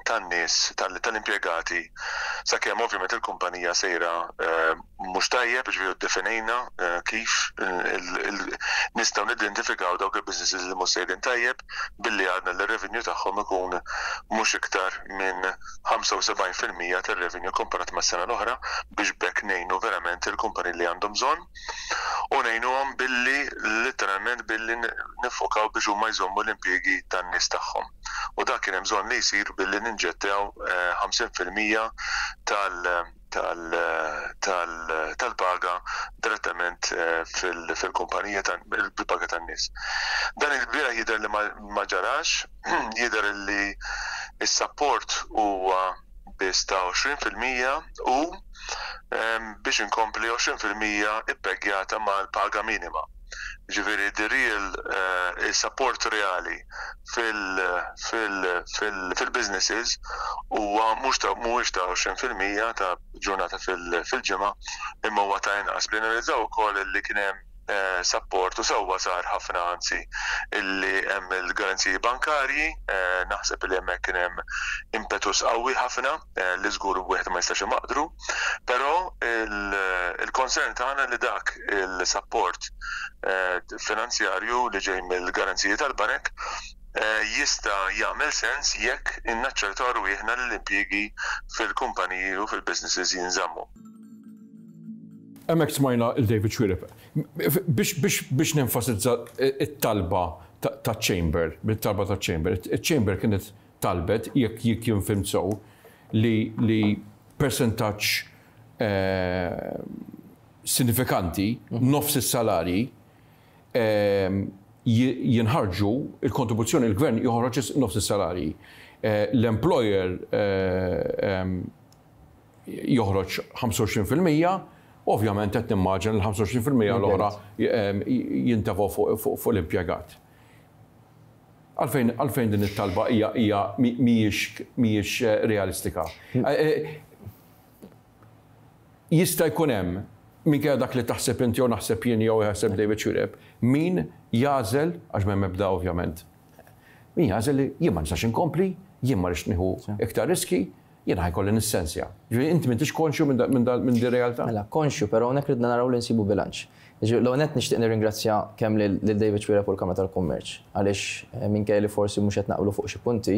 tan-nies tal-impjegati sakemm ovvjament il-kumpanija sejra mhux tajjeb, jiġifieri ddefinejna kif nistgħu nidentifikaw dawk il-businesses li mhux sejrin tajjeb billi għadna li r-revenue tagħhom ikun mhux iktar minn 75% tar-revenue komparat mas-sena l-oħra biex b'hekk ngħinu verament il-kumpaniji li għandhom bżonn u ngħinuhom billi litteralment billi niffokaw biex huma jżommu l-impjiegi tan-nies tagħhom. U dak kien hemm bżonn li jsir billi ninġettew 50% tal- tal-paga direttament. investiment fil-kumpanija bil-paga tan-nies. Dan il-bieraħ jidher li ma ġarax, jidher li s-sapport huwa biss ta' 20% u biex inkompli 20% ippegjata mal-paga minima. Ġifieri the real is-sapport reali fil-businesses huwa mhux ta' mhuwiex ta' 20% ta' ġurnata fil-ġimgħa imma huwa ta' inqas. Li analizzaw ukoll li kien hemm sapport u sewwa sar ħafna anzi illi hemm il-garanziji bankarji, naħseb li hemmhekk kien hemm impetus qawwi ħafna li żgur wieħed ma jistax imaqdru, però il-concern tagħna li dak il-sapport finanzjarju li ġej mill-garanziji tal-banek jista' jagħmel sens jekk innaċċertaw rwieħna li l-impjiegi fil-kumpaniji u fil-businesses jinżammu. Hemmhekk smajna 'l David Xuereb. Biex nenfasizza t-talba taċ-Chamber, it-talba taċ-Chamber, iċ-Chamber kienet talbet, jekk jien fhimt sew, li persentaġġ sinifikanti, nofs is-salarji, jinħarġu, il-kontribuzzjoni, il-gvern joħroġ nofs is-salarji. L-employer joħroġ 25%, ovvjament qed nimmaġina l-25% l-oħra jintefgħu fuq l-impjegat. Għalfejn għalfejn din it-talba hija hija mhijiex mhijiex realistika? Jista' jkun hemm, minkejja dak li taħseb inti jew naħseb jien jew jaħseb David Xuereb, min jagħżel, għax m'hemm ebda ovvjament, min jagħżel li jien ma nistax inkompli, jien ma rridx nieħu iktar riski, jiena ħa jkolli nissensja. Ġifieri inti m'intix konxju minn minn din realtà? Mela, konxju, però hawnhekk ridna naraw li nsibu bilanċ. Jiġifieri l-ewwel nett nixtieq nirringrazzja kemm lil David Xuereb u l-Kamra tal-Kummerċ għaliex minkejja li forsi mhux qed naqblu fuq xi punti,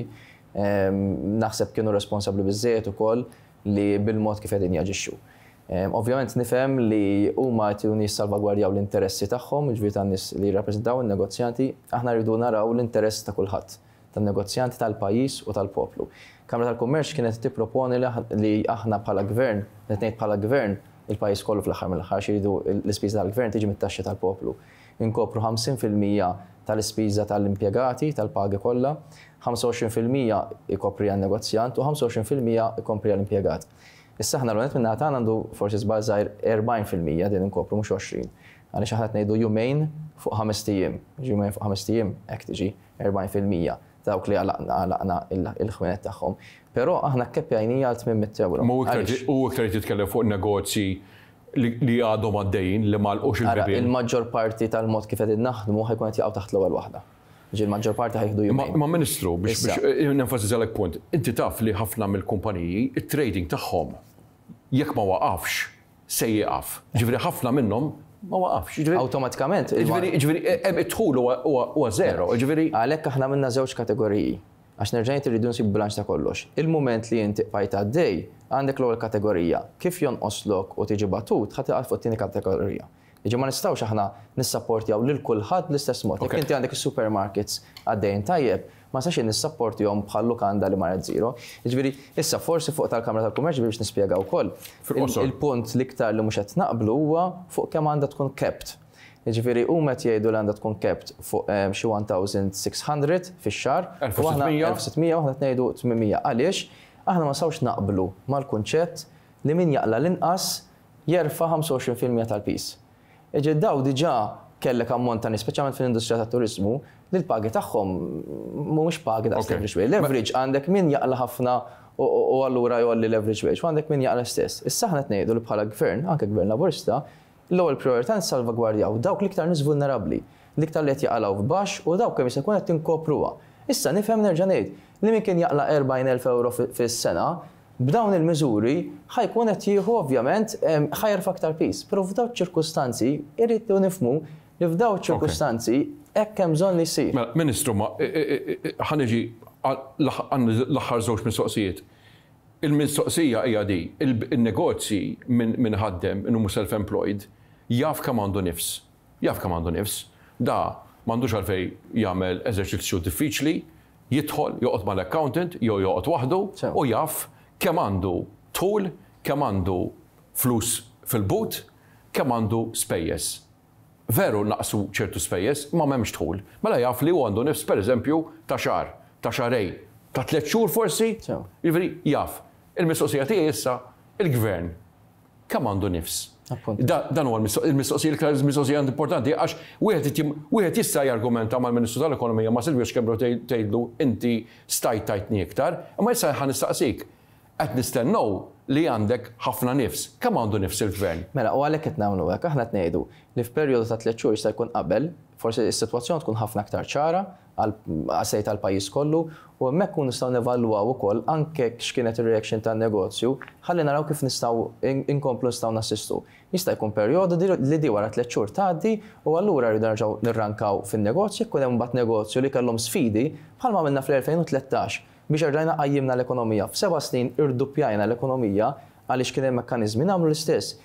naħseb kienu responsabbli biżżejjed ukoll li bil-mod kif qegħdin jaġixxu. Ovvjament nifhem li huma qed jissalvagwardjaw l-interessi tagħhom, jiġifieri tan-nies li jirrappreżentaw in-negozjanti, aħna rridu naraw l-interess ta' kulħadd, tan-negozjanti, tal-pajjiż u tal-poplu. Kamra tal-Kummerċ kienet tipproponi li aħna bħala gvern, qed ngħid bħala gvern, il-pajjiż kollu fl-aħħar mill-aħħar għax iridu l-ispiża tal-gvern tiġi mit-taxxi tal-poplu. Inkopru 50% tal-ispiża tal-impjegati, tal-pagi kollha, 25% ikopri għan-negozjant u 25% ikompri għall-impjegat. Issa aħna l-għonet min-naħa tagħna għandu forsi żball żgħir 40% din inkopru mhux 20. Għaliex aħna qed ngħidu jumejn fuq ħamest ijiem. Jumejn fuq ħamest ijiem hekk tiġi 40% dawk li għalaqna il-ħwienet tagħhom. Però aħna kkeppjajnija għal 800 ewro. Ma hu iktar qed jitkellem fuq negozji li għadhom għaddejjin, li m'għalqux il-bibien. Ara, il-maġġor parti tal-mod kif qegħdin naħdmu ħa jkun qed jaqgħu taħt l-ewwel waħda. Ġifieri l-maġġor parti ħa jieħdu jumejn. Ma Ministru, biex nenfasizzalek punt, inti taf li ħafna mill-kumpaniji it-trading tagħhom jekk ma waqafx se jieqaf. Ġifieri ħafna minnhom ma waqafx. Awtomatikament. Ġifieri id-dħul huwa żero, ġifieri. Għalhekk aħna għamilna żewġ kategoriji. Għax nerġa' ngħid irridu nsibu bilanċ ta' kollox. Il-mument li inti qbajt għaddej, għandek l-ewwel kategorija. Kif jonqoslok u tiġi batut, ħa tieqaf fuq it-tieni kategorija. Jiġifieri ma nistgħux aħna nissapportjaw lil kulħadd bl-istess mod. Jekk inti għandek is-supermarkets għaddejjin tajjeb, ma nistax jien nissapportihom bħal lukanda li marret zero. Jiġifieri, issa forsi fuq tal-Kamra tal-Kummerċ biex nispjega wkoll, il-punt l-iktar li mhux qed naqblu huwa fuq kemm għandha tkun capped. Jiġifieri huma qed jgħidu li għandha tkun capped fuq xi 1,600 fix-xahar. 1600. 1600 u aħna qed ngħidu 800. Għaliex? Aħna ma nistgħux naqblu mal-kunċett li min jaqla' l-inqas jerfa' 25% tal-piż. Jiġifieri dawn diġà kellek ammont ta' nies, speċjalment fl-industrija tat-turiżmu, li l-pagi tagħhom mhumiex pagi daqs l-average wage. L-average għandek min jaqla' ħafna u allura jgħolli l-average wage u għandek min jaqla' stess. Issa aħna qed ngħidu li bħala gvern, anke gvern Laburista, l-ewwel prijorità nissalvagwardjaw dawk l-iktar nies vulnerabbli, l-iktar li qed jaqalgħu f'baxx u dawk kemm jista' jkun qed inkopruha. Issa nifhem nerġa' ngħid li min kien jaqla' 40,000 ewro fis-sena, B'dawn il-miżuri ħa jkun qed jieħu ovvjament ħa jerfa' aktar piż. Però f'dawk ċ-ċirkustanzi irridu nifhmu li f'dawk ċ-ċirkustanzi hekk hemm bżonn li jsir. Mela, Ministru, ma ħa niġi l-aħħar żewġ mistoqsijiet. Il-mistoqsija hija di, in-negozji min iħaddem, min hu self-employed, jaf kemm għandu nifs. Jaf kemm għandu nifs. Da m'għandux għalfejn jagħmel eżerċizzju diffiċli, jidħol, joqgħod mal-accountant jew joqgħod waħdu u jaf kemm għandu dħul, kemm għandu flus fil-but, kemm għandu spejjeż. Veru naqsu ċertu spejjeż, imma m'hemmx dħul. Mela jaf li hu għandu nifs pereżempju ta' xahar, ta' xahrejn, ta' tlett xhur forsi? Jiġifieri jaf. Il-mistoqsija tiegħi issa, il-Gvern kemm għandu nifs? Dan huwa l-mistoqsija l-iktar mistoqsija importanti għax wieħed wieħed jista' jargumenta mal-Ministru tal-Ekonomija ma' Silvio Schembri u tgħidlu inti stajt tajtni iktar, imma issa ħa nistaqsik, Qed nistennew li għandek ħafna nifs. Kemm għandu nifs il-Gvern? Mela, u għalhekk qed nagħmlu hekk. Aħna qed ngħidu li f'perjodu ta' tlett xhur jista' jkun qabel, forsi s-sitwazzjoni tkun ħafna aktar ċara għal għas-sejt tal-pajjiż kollu u hemmhekk nkunu nistgħu nevalwaw ukoll anke x'kienet ir-reaction tan-negozju ħalli naraw kif nistgħu inkomplu nistgħu nassistu. Jista' jkun perjodu li di wara tlett xhur tgħaddi u allura rridu nerġgħu nirrankaw fin-negozju jekk ikun hemm imbagħad negozju li kellhom sfidi bħalma għamilna fl-2013 Biex erġajna qajjimna l-ekonomija. F'seba' snin irduppjajna l-ekonomija għaliex kien hemm mekkaniżmi. Nagħmlu l-istess.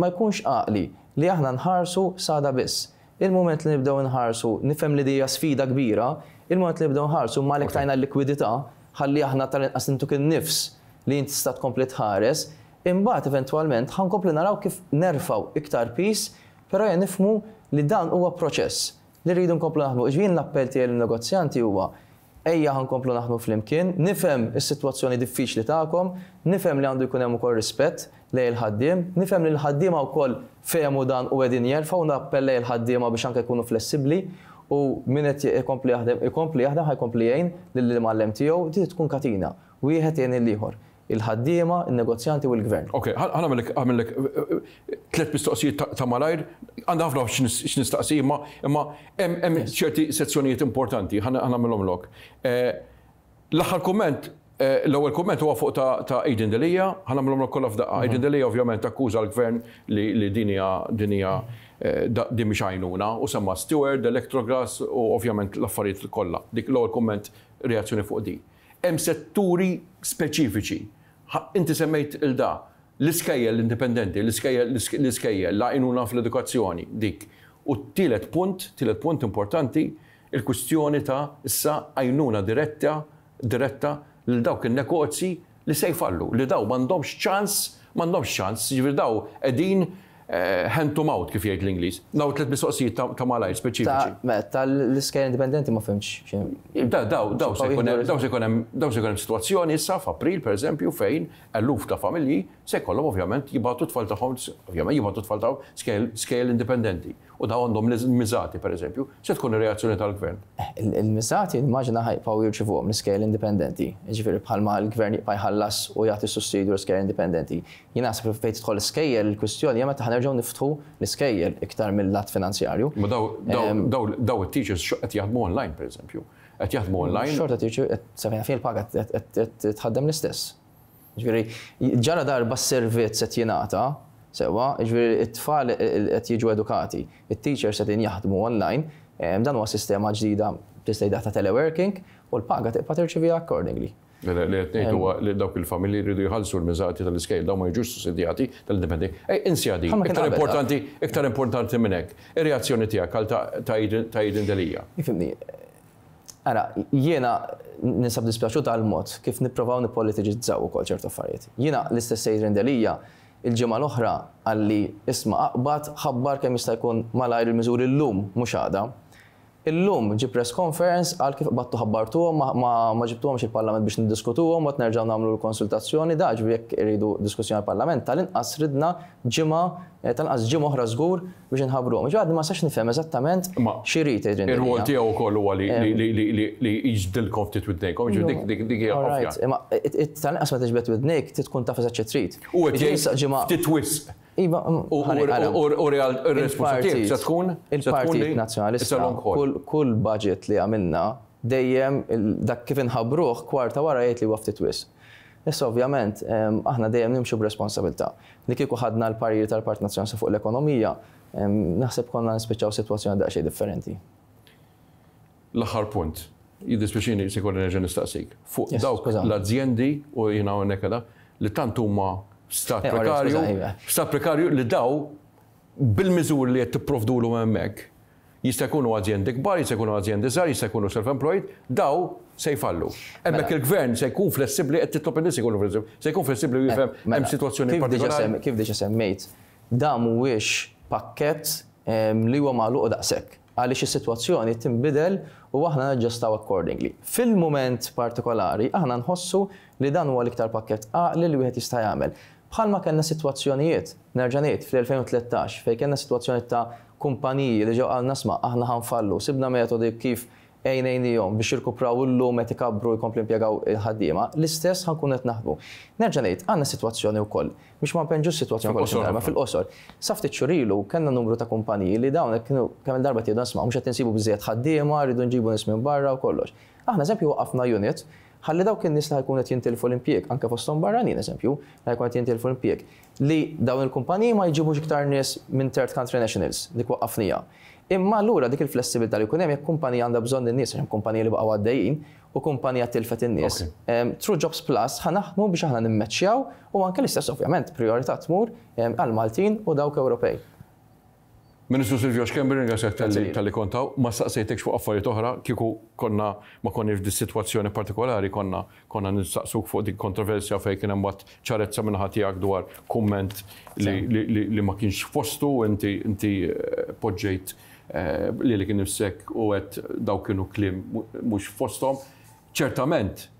Ma jkunx għaqli li aħna nħarsu s'għada biss. Il-mument li nibdew inħarsu, nifhem li di hija sfida kbira, il-mument li nibdew nħarsu imma għalhekk tajna l-likwidità ħalli aħna tal-inqas intuk in-nifs li int tista' tkompli tħares, imbagħad eventwalment ħa nkomplu naraw kif nerfgħu iktar piż, però ejja nifhmu li dan huwa proċess li rridu nkomplu naħdmu. Jiġifieri jien l-appell tiegħi lin-negozjanti huwa Ejja ħa nkomplu naħdmu flimkien, nifhem is-sitwazzjoni diffiċli tagħkom, nifhem li għandu jkun hemm ukoll rispett lejn il-ħaddiem, nifhem li l-ħaddiema wkoll fehmu dan u qegħdin jerfgħu u nappella lejn il-ħaddiema biex anke jkunu flessibbli u min qed ikompli jaħdem ikompli jaħdem ħa jkompli jgħin lill-imgħallem tiegħu, din tkun katina, wieħed jgħin lill-ieħor. Il-ħaddiema, in-negozjanti u l-Gvern. Ok, ħa nagħmellek għamillek tlett mistoqsijiet ta' malajr. Għandi ħafna x'nistaqsi imma imma hemm ċerti sezzjonijiet importanti, ħa nagħmilhomlok. L-aħħar kumment, l-ewwel kumment huwa fuq ta' Adrian Delia, ħa nagħmilhomlok kollha f'daqqa. Adrian Delia ovvjament akkuża l-Gvern li din hija din hija din mhix għajnuna u semma Steward, Electrogas u ovvjament l-affarijiet kollha. Dik l-ewwel kumment reazzjoni fuq din. Hemm setturi speċifiċi. Inti semmejt 'il da. L-iskejjel indipendenti, l-iskejjel, l-iskejjel, l-għajnuna fl-edukazzjoni, dik. U t-tielet punt, tielet punt importanti, il-kwistjoni ta' issa għajnuna diretta, diretta lil dawk in-negozji li se jfallu, li dawn m'għandhomx ċans, m'għandhomx ċans, jiġifieri dawn qegħdin hand to mouth kif jgħid l-Ingliż. Dawn tliet mistoqsijiet ta' malajr speċifiċi. Mela, tal-iskejjel indipendenti ma fhimtx x'inhu. Daw daw se jkun hemm daw se jkun hemm daw se jkun hemm sitwazzjoni issa f'April pereżempju fejn eluf ta' familji se jkollhom ovvjament jibagħtu t-tfal tagħhom ovvjament jibagħtu t-tfal tagħhom skejjel indipendenti. U dawn għandhom l-miżati, pereżempju, se tkun ir-reazzjoni tal-Gvern? Il-miżati nimmaġina ħa jibqgħu jirċivuhom l-iskejjel indipendenti. Jiġifieri bħalma l-Gvern jibqa' jħallas u jagħti sussidju l-iskejjel indipendenti. Jien naħseb li fejn tidħol l-iskejjel, il-kwistjoni hija meta ħa nerġgħu niftħu l-iskejjel iktar mill-lat finanzjarju. Imma dawn it-teachers qed jaħdmu online, pereżempju. Qed jaħdmu online. Xorta tirċievi, sa fejn naf jien il-paga qed tħaddem l-istess. Jiġifieri, ġara darba s-servizz qed jingħata, sewwa, jiġifieri t-tfal qed jiġu edukati, it-teachers qegħdin jaħdmu online, dan huwa sistema ġdida tista' tgħidha ta' teleworking u l-paga tibqa' tirċiviha accordingly. Le, le, li qed ngħid huwa li dawk il-familji jridu jħallsu l-miżati tal-iskejjel, dawn ma jiġux sussidjati tal-indipendenti. Ej, insiha din, iktar importanti, iktar importanti minn hekk. Ir-reazzjoni tiegħek għal ta' Adrian Delia. Ifhimni, Ara, jiena ninsab dispjaċut għall-mod kif nipprovaw nippolitiċizzaw ukoll ċertu affarijiet. Jiena l-istess Adrian Delia il-ġimgħa l-oħra qalli isma' aqbad ħabbar kemm jista' jkun malajr il-miżuri llum mhux għada. Illum ġie press conference qal kif qbadtu ħabbartuhom ma ma ġibtuhomx il-Parlament biex niddiskutuhom mbagħad nerġgħu nagħmlu l-konsultazzjoni da ġifieri jekk iridu diskussjoni għall-Parlament tal-inqas ridna ġimgħa tal-inqas ġimgħa oħra żgur biex inħabbruhom. Ġifieri għadni ma nistax nifhem eżattament x'irid Adrian Delia. Ir-rwol tiegħu wkoll huwa li jiġbdilkom ftit widnejkom, jiġifieri dik dik hija ovvja. Imma tal-inqas meta tiġbed widnejk trid tkun taf eżatt xi trid. U qed jgħid ftit wisq. Iva, U r-risposta tiegħek se tkun Il-Partit Nazzjonalista kull budget li għamilna dejjem dak kif inħabbruh kwarta wara jgħid li huwa ftit wisq. Issa ovvjament aħna dejjem nimxu b'responsabilità. Li kieku ħadna l-parir tal-Partit Nazzjonalista fuq l-ekonomija, naħseb konna nispiċċaw sitwazzjoni daqsxejn differenti. L-aħħar punt, jiddispjaċini se jkolli nerġa' nistaqsik, fuq dawk l-azjendi, u jiena hawnhekk qiegħda, li tant huma f'stat prekarju, f'stat prekarju li daw bil-miżuri li qed tipprovdulhom hemmhekk, Jista' jkunu azjendi kbar, jista' jkunu azjendi żgħar, jista' jkunu self-employed, daw se jfallu. Hemmhekk il-gvern se jkun flessibbli, qed titlob in-nies ikunu flessibbli, se jkun flessibbli u jifhem hemm sitwazzjoni partikolari. Kif diġà semmejt, Dan mhuwiex pakkett li huwa magħluq daqshekk, għaliex is-sitwazzjoni tinbidel u aħna naġġustaw accordingly. Fil-mument partikolari aħna nħossu li dan huwa l-iktar pakkett għaqli li wieħed jista' jagħmel. Bħalma kellna sitwazzjonijiet, nerġa' ngħid, fl-2013 fejn kellna sitwazzjoni ta' kumpaniji li ġew qalulna isma' aħna ħa nfallu, sibna metodi kif għinejnihom biex jirkupraw illum qed ikabbru u jkomplu jimpjegaw il-ħaddiema, l-istess ħa nkunu qed naħdmu. Nerġa' ngħid, għandna sitwazzjoni wkoll, biex ma npenġux sitwazzjoni kollox imqarba, fil-qosor. Sa ftit xhur ilu kellna numru ta' kumpaniji li dawn kienu kemm-il darba qed jgħidu isma' mhux qed insibu biżżejjed ħaddiema, rridu nġibu nies minn barra u kollox. Aħna eżempju waqqafna unit ħalli dawk in-nies li ħa jkunu qed jintilfu l-impjieg, anke fosthom barranin eżempju, li ħa jkunu qed jintilfu l-impjieg, li dawn il-kumpaniji ma jġibux iktar nies minn third country nationals, dik waqqafniha. Imma allura dik il-flessibilità li jkun hemm jekk kumpanija għandha bżonn in-nies, għax hemm kumpaniji li baqgħu għaddejjin, u kumpanija tilfet in-nies, through Jobs Plus ħa naħdmu biex aħna nimmeċċjaw u anke l-istess ovvjament prijorità tmur għall-Maltin u dawk Ewropej. Ministru Silvio Schembri nirringrazzjak talli talli kont hawn. Ma staqsejtekx fuq affarijiet oħra, kieku konna ma konniex f'dis-sitwazzjoni partikolari konna konna nistaqsuk fuq dik kontroversja fejn kien hemm mbagħad ċarezza min-naħa tiegħek dwar kumment li li li ma kienx f'postu u inti inti poġġejt lilek innifsek u għedt dawk kienu kliem mhux f'posthom. Ċertament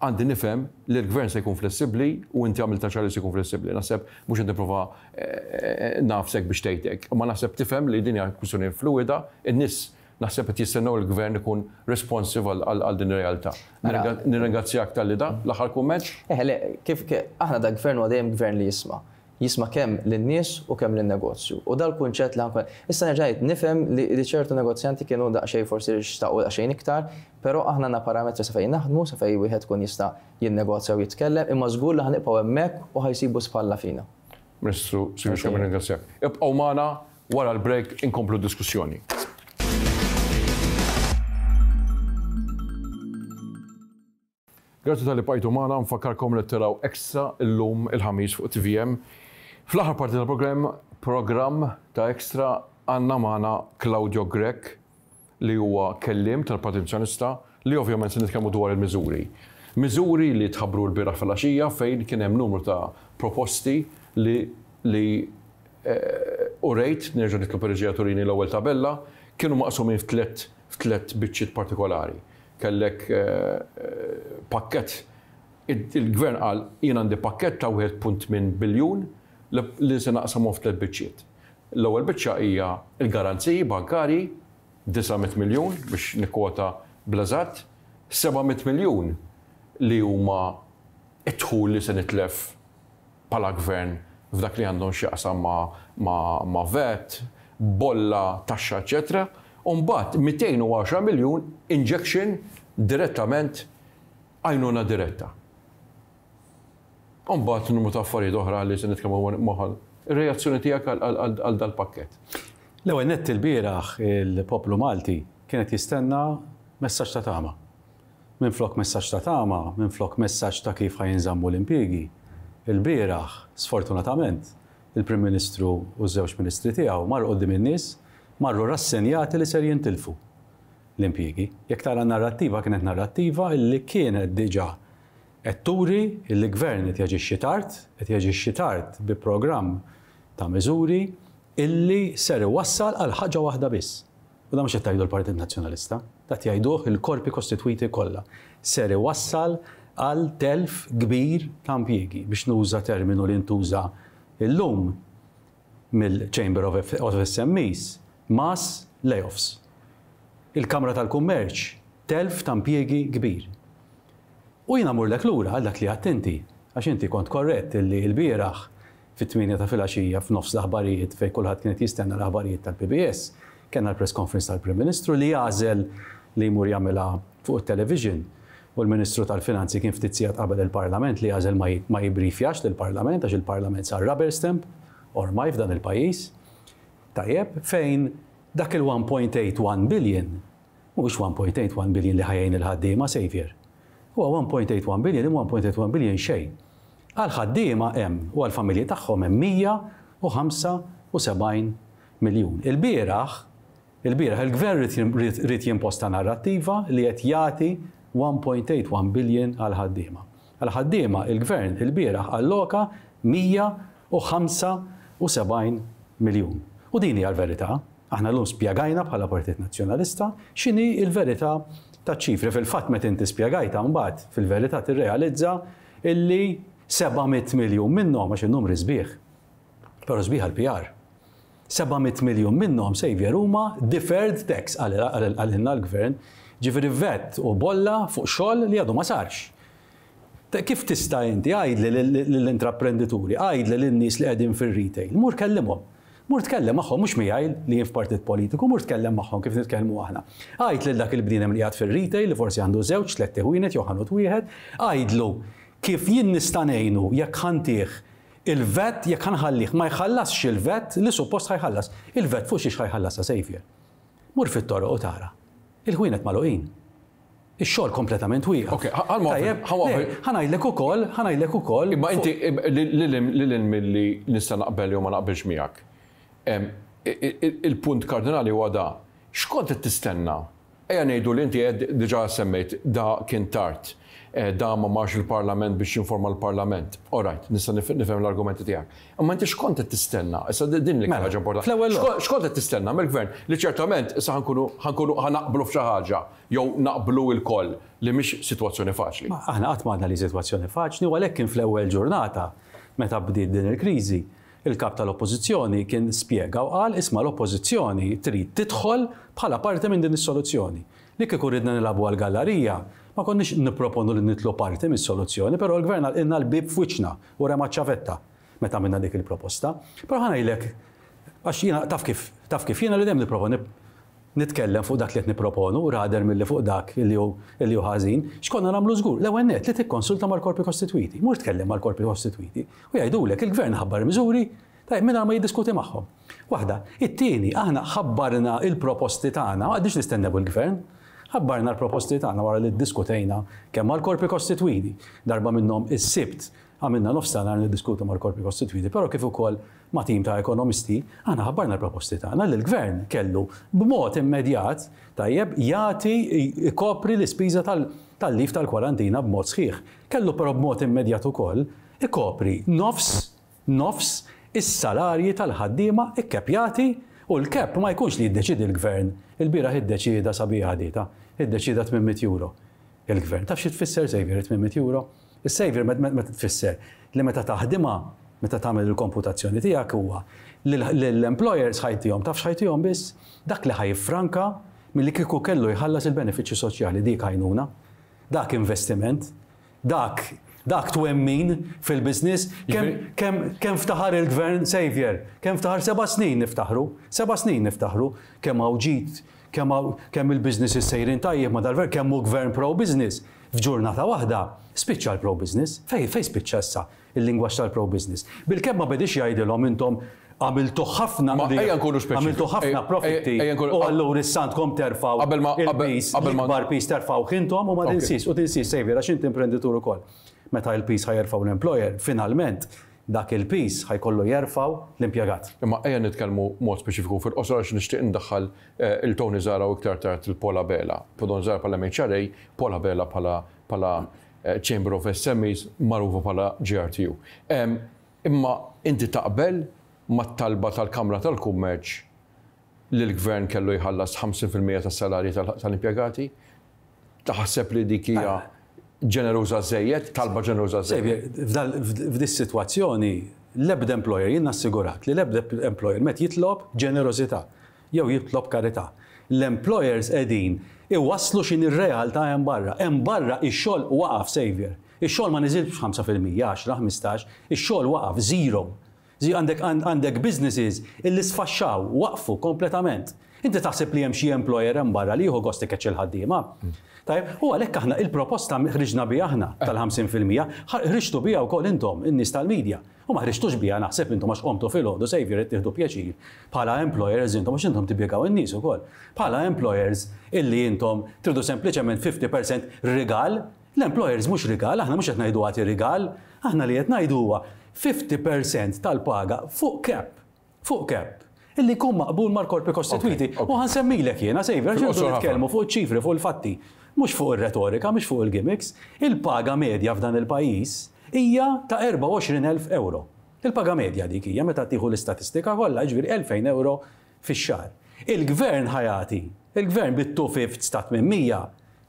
Għandi nifhem li l-Gvern se jkun flessibbli u inti għamiltha ċar li se jkun flessibbli. Naħseb mhux qed nipprova nagħfsek biex tgħid hekk, imma naħseb tifhem li din hija kwistjoni fluwida, in-nies naħseb qed jistennew li l-Gvern ikun responsive għal din ir-realtà. Nirringrazzjak talli da, l-aħħar kumment. Eħe le, kif aħna da Gvern huwa dejjem Gvern li jisma'. Jisma' kemm lin-nies u kemm lin-negozju. U dal-kunċett li ħa nkun Issa nerġa' ngħid, nifhem li ċertu negozjanti kienu daqsxejn forsi xtaqu daqsxejn iktar, però aħna għandna parametri sa fejn naħdmu, sa fejn wieħed ikun jista' jinnegozja u jitkellem, imma żgur li ħa nibqgħu hemmhekk u ħa jsibu spalla fina. Ministru Silvio Schembri nirringrazzjak. Ibqgħu magħna wara l-break inkomplu d-diskussjoni. Grazzi talli bqajtu magħna, nfakkarkom li taraw Extra illum il-Ħamis fuq tvm. Fl-aħħar parti tal-programm programm ta' Extra għandna magħna Claudio Grech li huwa kelliem tal-Partit Nazzjonalista li ovvjament se nitkellmu dwar il-miżuri. Miżuri li tħabbru lbieraħ filgħaxija fejn kien hemm numru ta' proposti li li urejt, nerġa' nitlob ir-reġija turini l-ewwel tabella, kienu maqsumin f'tliet f'tliet biċċiet partikolari. Kellek pakkett, il-Gvern qal jien għandi pakkett ta' 1.8 biljun li se naqsamhom f'tliet biċċiet. L-ewwel biċċa hija l-garanziji bankarji, 900 miljun biex nikkwota bl-eżatt, 700 miljun li huma d-dħul li se nitlef bħala gvern f'dak li għandhom x'jaqsam ma' vat, bolla, taxxa eċċetera, u mbagħad 210 miljun injection direttament għajnuna diretta. U mbagħad numru ta' affarijiet oħra li se nitkellmu magħha. Ir-reazzjoni tiegħek għal dal-pakkett? L-ewwel nett ilbieraħ il-poplu Malti kien qed jistenna messaġġ ta' tama. Minflok messaġġ ta' tama, minflok messaġġ ta' kif ħa jinżammu l-impjiegi, ilbieraħ, sfortunatament, il-Prim Ministru u ż-żewġ Ministri tiegħu marru quddiem in-nies, marru rassenjati li ser jintilfu l-impjiegi. Jekk tara n-narrattiva kienet narrattiva illi kienet diġà qed turi illi Gvern qed jaġixxi tard, qed jaġixxi tard bi programm ta' miżuri illi ser iwassal għal ħaġa waħda biss, U dan mhux qed tgħidu l-Partit Nazzjonalista, dan qed jgħiduh il-korpi kostitwiti kollha. Ser iwassal għal telf kbir ta' impjiegi, biex nuża terminu li ntuża llum mill-Chamber of SMEs, mass layoffs. Il-Kamra tal-Kummerċ, telf ta' impjiegi kbir. U jiena mmurlek lura għal dak li għedt inti, għax inti kont korrett illi lbieraħ Fit-tmienja ta' filgħaxija f'nofs l-aħbarijiet fejn kulħadd kien qed jistenna l-aħbarijiet tal-PBS, kellna l-press conference tal-Prim Ministru li għażel li jmur jagħmilha fuq it-television u l-Ministru tal-Finanzi kien ftit sigħat qabel il-Parlament li għażel ma jibbriefjax lill-Parlament għax il-Parlament sar rubber stamp ormai f'dan il-pajjiż. Tajjeb, fejn dak il-1.81 billion mhuwiex 1.81 billion li ħa jgħin il-ħaddiema, Saviour. Huwa 1.81 billion imma 1.81 billion xejn. Għall-ħaddiema hemm u għall-familji tagħhom hemm 175 miljun. Ilbieraħ, ilbieraħ il-Gvern ried jimposta narrattiva li qed jagħti 1.81 billion għall-ħaddiema. Għall-ħaddiema il-Gvern ilbieraħ alloka 175. 670 miljun. U din hija l-verità. Aħna llum spjegajna bħala Partit Nazzjonalista x'inhi l-verità taċ-ċifri. Fil-fatt meta inti spjegajtha mbagħad fil-verità tirrealizza illi 700 miljun minnhom, għax in-numri sbieħ, però sbieħ għall-PR, 700 miljun minnhom, Saviour, huma deferred tax qalilna l-Gvern, ġifieri vat u bolla fuq xogħol li għadu ma sarx. Kif tista' inti, għidli lill-intraprendituri, għidli lin-nies li qegħdin fir-retail, mur kellimhom. Mur tkellem magħhom, mhux miegħi li jien f'partit politiku, mur tkellem magħhom kif nitkellmu aħna. Għid lil dak il-bniedem li qiegħed fir-retail li forsi għandu żewġ, tlett iħwienet jew ħanut wieħed, għidlu kif jien nista' ngħinu jekk ħa ntih il-VAT, jekk ħa nħallih ma jħallasx il-VAT li suppost ħa jħallas. Il-VAT fuq xiex ħa jħallasha Saviour? Mur fit-toroq u tara. Il-ħwienet magħluqin. Ix-xogħol kompletament wieqaf. Ok, Tajjeb, ħa ngħidlek ukoll, ħa ngħidlek ukoll. Imma inti lil hinn milli nista' naqbel jew ma naqbilx miegħek. Il-punt kardinali huwa da. X'kont qed tistenna? Ejja ngħidu li inti qed diġà semmejt da kien tard. Da ma marx il-Parlament biex jinforma l-Parlament. All right, nista' nifhem l-argumenti tiegħek. Imma inti x'kont qed tistenna? Issa din l-iktar ħaġa importanti. Fl-ewwel lok. X'kont qed tistenna mill-Gvern li ċertament issa ħa nkunu ħa nkunu ħa naqblu f'xi ħaġa jew naqblu lkoll li mhix sitwazzjoni faċli. Aħna qatt m'għadna li sitwazzjoni faċli u għalhekk kien fl-ewwel ġurnata meta bdiet din il-kriżi, il-Kap tal-Oppożizzjoni kien spjega u qal isma' l-Oppożizzjoni trid tidħol bħala parti minn din is-soluzzjoni. Li kieku ridna nilagħbu għall-gallarija, ma konniex nipproponu li nidħlu parti mis-soluzzjoni, però l-Gvern għalqilna l-bieb f'wiċċna u rema ċ-ċavetta meta għamilna dik il-proposta. Però ħa ngħidlek, għax jiena taf kif, taf kif jiena li dejjem nipprova nitkellem fuq dak li qed nipproponu rather milli fuq dak li hu li hu ħażin, x'konna nagħmlu żgur? L-ewwel nett li tikkonsulta mal-korpi kostitwiti. Mur tkellem mal-korpi kostitwiti u jgħidulek il-Gvern ħabbar miżuri Tajjeb, mingħajr ma jiddiskuti magħhom. Waħda. It-tieni, aħna ħabbarna l-proposti tagħna, ma qgħadniex nistennew il-Gvern. Ħabbarna l-proposti tagħna wara li ddiskutejna kemm mal-korpi kostitwiti, darba minnhom is-Sibt għamilna nofs ta' nhar niddiskutu mal-korpi kostitwiti, però kif ukoll ma' tim ta' ekonomisti, aħna ħabbarna l-proposti tagħna li l-Gvern kellu b'mod immedjat, tajjeb, jagħti, ikopri l-ispiża tal-leave tal-kwarantina b'mod sħiħ. Kellu però b'mod immedjat ukoll ikopri nofs nofs is-salarji tal-ħaddiema kkeppjati u l-cap ma jkunx li jiddeċiedi l-Gvern, ilbieraħ iddeċieda sabiħa di ta, iddeċieda 800 euro il-Gvern. Taf xi tfisser Saviour it-800 euro? Is-Saviour meta tfisser li meta taħdimha, meta tagħmel il-komputazzjoni tiegħek huwa li lill-employers ħa jtihom, taf x'ħa jtihom biss? Dak li ħa jiffranka milli kieku kellu jħallas il-benefiċċji soċjali, dik għajnuna, dak investiment. Dak, dak twemmin fil-business, kemm, kemm, kemm ftaħar il-Gvern, Saviour, kemm ftaħar seba' snin niftaħru, seba' snin niftaħru, kemm hawn ġid, kemm hawn, kemm il-businesses sejrin tajjeb ma' dal-Gvern, kemm hu Gvern pro-business. F'ġurnata waħda, spiċċa l-pro-business. Fejn, fejn spiċċa issa? il-lingwaġġ tal-pro-business. Bilkemm ma bediex jgħidilhom intom għamiltu ħafna Ma ejja nkunu speċifiċi. għamiltu ħafna profitti Ejja nkunu u allura issa għandkom terfgħu Qabel ma il-piż, qabel ma l-ikbar piż terfgħuh intom u ma tinsiex, u tinsiex Saviour għax inti imprenditur ukoll. Meta l-piż ħa jerfgħu l-employer, finalment dak il-piż ħa jkollu jerfgħu l-impjegat. Imma ejja nitkellmu mod speċifiku fil-qosor għax nixtieq indaħħal il Tony Zahra u iktar tard il Paul Abela. Tony Zahra bħala MHRA, Paul Abela bħala bħala Chamber of SMEs magħrufa bħala GRTU. Imma inti taqbel mat-talba tal-Kamra tal-Kummerċ li l-Gvern kellu jħallas 50% tas-salarji tal-impjegati? Taħseb li dik hija ġeneruża żżejjed, talba ġeneruża żżejjed? Xavier, f'dis-sitwazzjoni l-ebda employer, jien nassigurak li l-ebda employer m'qed jitlob ġenerożità. jew jitlob karità. L-employers qegħdin iwasslu x'inhi r-realtà hemm barra. Hemm barra ix-xogħol waqaf, Saviour. Ix-xogħol ma niżilx b'5%, għaxra, 15, ix-xogħol waqaf, zero. Għandek għandek businesses illi sfaxxaw, waqfu kompletament. Inti taħseb li hemm xi employer hemm barra li jieħu gost ikeċċi l-ħaddiema? Tajjeb, u għalhekk aħna il-proposta ħriġna biha aħna tal-50%, ħriġtu biha wkoll intom, in-nies tal-media. U ma ħriġtux biha naħseb intom għax qomtu filgħodu Saviour qed tieħdu pjaċir bħala employers intom għax intom tippjegaw in-nies ukoll. Bħala employers illi intom tridu sempliċement 50% rigal, l-employers mhux rigal, aħna mhux qed ngħidu agħti rigal, aħna li qed ngħidu huwa 50% tal-paga fuq cap. Fuq cap. Illi jkun maqbul mal-korpi kostitwiti. U ħa nsemmilek jiena, Saviour, għax irridu nitkellmu fuq iċ-ċifri, fuq il-fatti. Mhux fuq ir-retorika, mhux fuq il-gimmicks. Il-paga medja f'dan il-pajjiż hija ta' 24,000 ewro. Il-paga medja dik hija meta tieħu l-istatistika kollha, jiġifieri 2,000 ewro fix-xahar. Il-Gvern ħa jagħti, il-Gvern bit-two fifths ta' 800,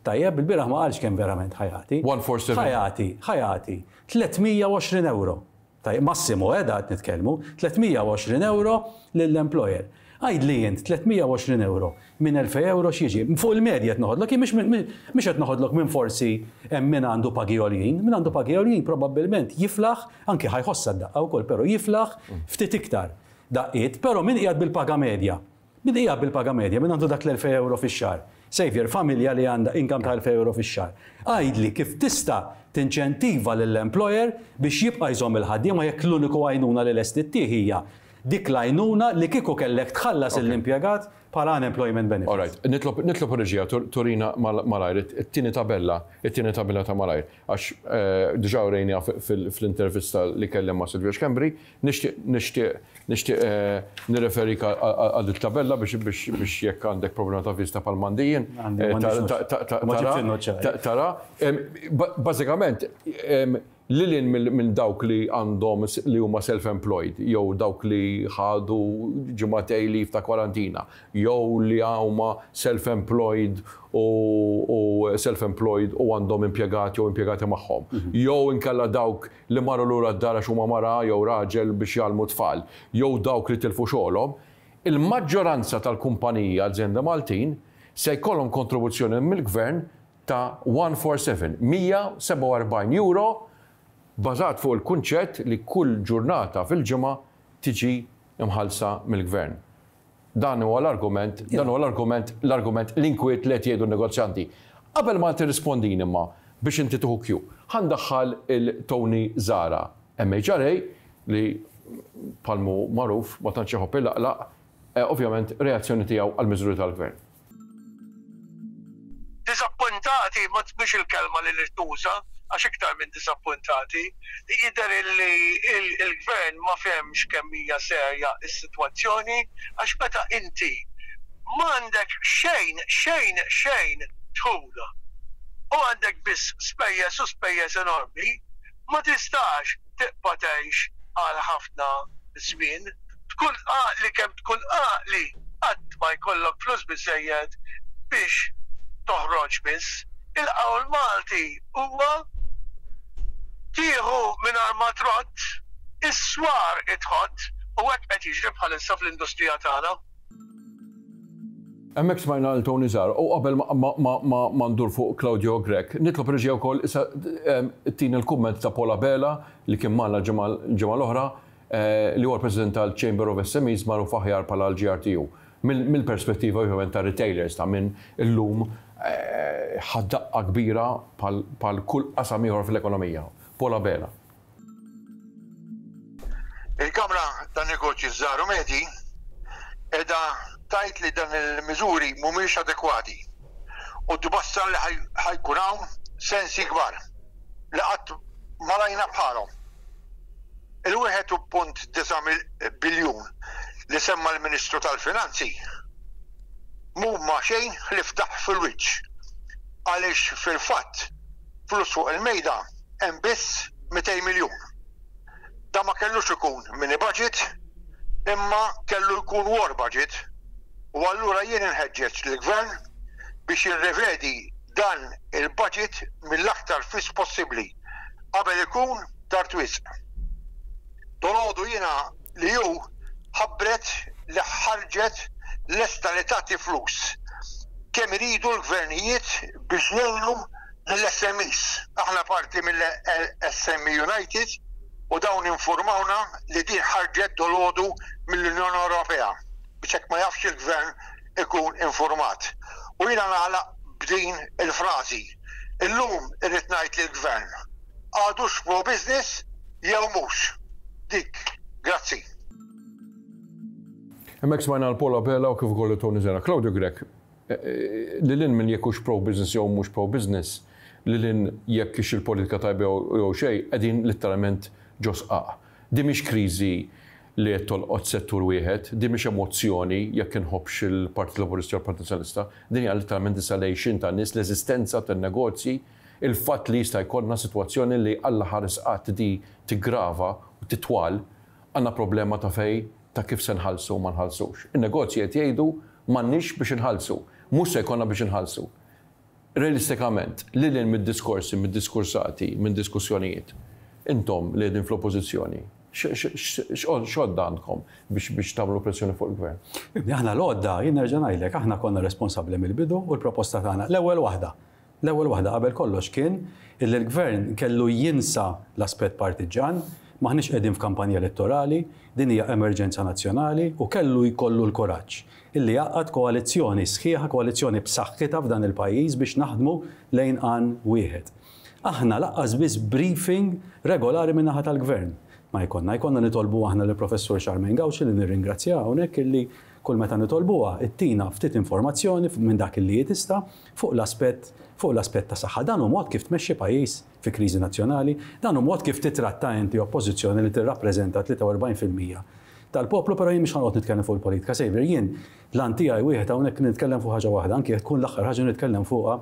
tajjeb, ilbieraħ ma qalx kemm verament ħa jagħti. 147. Ħa jagħti, ħa jagħti 320 ewro. Tajjeb, massimu, eh, da qed nitkellmu, 320 ewro lill-employer. Għidli int, 320 ewro minn 2000 ewro x'jiġi? Fuq il-medja qed noħodlok, jien mhix mhix qed noħodlok minn forsi hemm min għandu pagi għoljin, min għandu pagi għoljin probabbilment jiflaħ, anki ħa jħossha d-daqqa wkoll, però jiflaħ ftit iktar daqqiet, però min qiegħed bil-paga medja? Min qiegħed bil-paga medja, min għandu dak l-2000 ewro fix-xahar? Saviour, familja li għandha income ta' 2000 ewro fix-xahar. Għidli kif tista' tinċentiva lill-employer biex jibqa' jżomm il-ħaddiema jekk l-uniku għajnuna li lest ittih hija dik l-għajnuna li kieku kellek tħallas lill-impjegat bħala unemployment benefits. All right. Nitlob nitlob ir-reġija turina malajr it-tieni tabella, it-tieni tabella ta' malajr, għax diġà urejniha fl-intervista li kellem ma' Silvio Schembri, Nixtieq nixtieq nixtieq nirreferik għal dik tabella biex biex biex jekk għandek problema ta' vista bħal m'għandi jien tara. Bażikament lil hinn minn dawk li għandhom li huma self-employed jew dawk li ħadu ġimagħtejn leave ta' kwarantina jew li huma self-employed u self-employed u għandhom impjegati jew impjegati magħhom jew inkella dawk li marru lura d-dar għax huma mara jew raġel biex jgħallmu t-tfal, jew dawk li tilfu xogħolhom, il-maġġoranza tal-kumpaniji azjendi Maltin se jkollhom kontribuzzjoni mill-Gvern ta' 147, 147 euro bażat fuq il-kunċett li kull ġurnata fil-ġimgħa tiġi mħallsa mill-Gvern. Dan huwa l-argument, dan huwa l-argument, l-argument, l-inkwiet li qed jgħidu n-negozjanti. Qabel ma tirrispondini imma biex inti tieħu cue, ħa ndaħħal il Tony Zahra, MHRA, li bħal mhu magħruf ma tantx iħobb ilaqlaq, ovvjament reazzjoni tiegħu għall-miżuri tal-Gvern. Diżappuntati mhix il-kelma li tuża għax iktar minn diżappuntati. Jidher illi l-Gvern ma fehemx kemm hija serja s-sitwazzjoni għax meta inti m'għandek xejn, xejn, xejn dħul u għandek biss spejjeż u spejjeż enormi, ma tistax tibqa' tgħix għal ħafna żmien. Tkun għaqli kemm tkun għaqli qatt ma jkollok flus biżżejjed biex toħroġ biss. Il-qawl Malti huwa tieħu mingħajr ma trodd, is-swar itħott u hekk qed jiġri bħalissa fl-industrija tagħna. Hemmhekk smajna lil Tony Zahra u qabel ma ndur fuq Claudio Grech, nitlob reġija wkoll issa ttini l-kumment ta' Paul Abela li kien magħna l-ġimgħa l-oħra li huwa l-President tal-Chamber of SMEs magħruf aħjar bħala l-GRTU. Mill-perspettiva ovvjament ta' retailers ta' min illum ħa daqqa kbira bħal kull qasam ieħor fl-ekonomija. Paul Abela. Il-Kamra tan-Negozji Żgħar u Medji qiegħda tgħid li dan il-miżuri mhumiex adekwati u tbassar li ħa jkun hawn sensi kbar li qatt ma rajna bħalhom. Il-1.9 biljun li semma l-Ministru tal-Finanzi mhuma xejn ħlief daħq fil-wiċċ għaliex fil-fatt flus fuq il-mejda hemm biss 200 miljun. Dan ma kellux ikun mini budget imma kellu jkun war budget u allura jien inħeġġeġ lill-Gvern biex jirrevedi dan il-budget mill-aktar fis possibbli qabel ikun tard wisq. Dolgħodu jiena li hu ħabbret li ħarġet lesta li tagħti flus kemm iridu l-gvernijiet biex jgħinu lill-SMEs. Aħna parti mill-SME United u dawn infurmawna li din ħarġet dolgħodu mill-Unjoni Ewropea biex hekk ma jafx il-gvern ikun infurmat. U jiena nagħlaq b'din il-frażi. Illum irrid ngħid lill-gvern għadux pro-business jew mhux. Dik. Grazzi. Hemmhekk smajna 'l Paul Abela u kif ukoll lil Tony Zahra. Claudio Grech, lil hinn minn jekk hux pro-business jew mhux pro-business, lil hinn jekk hix il-politika tajba jew xejn, qegħdin litteralment ġo sqaq. Din mhix kriżi li qed tolqot settur wieħed, din mhix emozzjoni jekk inħobbx il-Partit Laburista jew il-Partit Nazzjonalista, din hija litteralment issa l-għixien tan-nies, l-eżistenza tan-negozji, il-fatt li jista' jkollna sitwazzjoni li Alla ħares qatt di tiggrava u titwal. Għandna problema ta' fejn ta' kif se nħallsu u ma nħallsux. In-negozji qed jgħidu m'għandniex biex inħallsu, mhux se jkollna biex inħallsu. Realistikament, lil hinn mid-diskorsi, mid-diskursati, minn diskussjonijiet, intom li qegħdin fl-Oppożizzjoni, x'għodda għandkom biex biex tagħmlu pressjoni fuq il-Gvern? Ibni, aħna l-għodda, jien nerġa' ngħidlek, aħna konna responsabbli mill-bidu u l-proposta tagħna, l-ewwel waħda, L-ewwel waħda qabel kollox kien illi l-Gvern kellu jinsa l-aspett partiġġan, m'aħniex qegħdin f'kampanja elettorali, din hija emerġenza nazzjonali u kellu jkollu l-kuraġġ illi jgħaqqad koalizzjoni sħiħa, koalizzjoni b'saħħitha f'dan il-pajjiż biex naħdmu lejn għan wieħed. Aħna lanqas biss briefing regolari min-naħa tal-Gvern ma jkollna. Jkollna nitolbu aħna lill-Professur Charmaine Gauci li nirringrazzjaha hawnhekk illi kull meta nitolbuha ttina ftit informazzjoni minn dak illi hi tista' fuq l-aspett fuq l-aspett ta' saħħa. Dan hu mod kif tmexxi pajjiż fi kriżi nazzjonali, dan hu mod kif titratta inti oppożizzjoni li tirrappreżenta 43% tal-poplu, però jien mhux ħa noqgħod nitkellem fuq il-politika Saviour, jien l-għan tiegħi wieħed hawnhekk nitkellem fuq ħaġa waħda, anki jekk tkun l-aħħar ħaġa nitkellem fuqha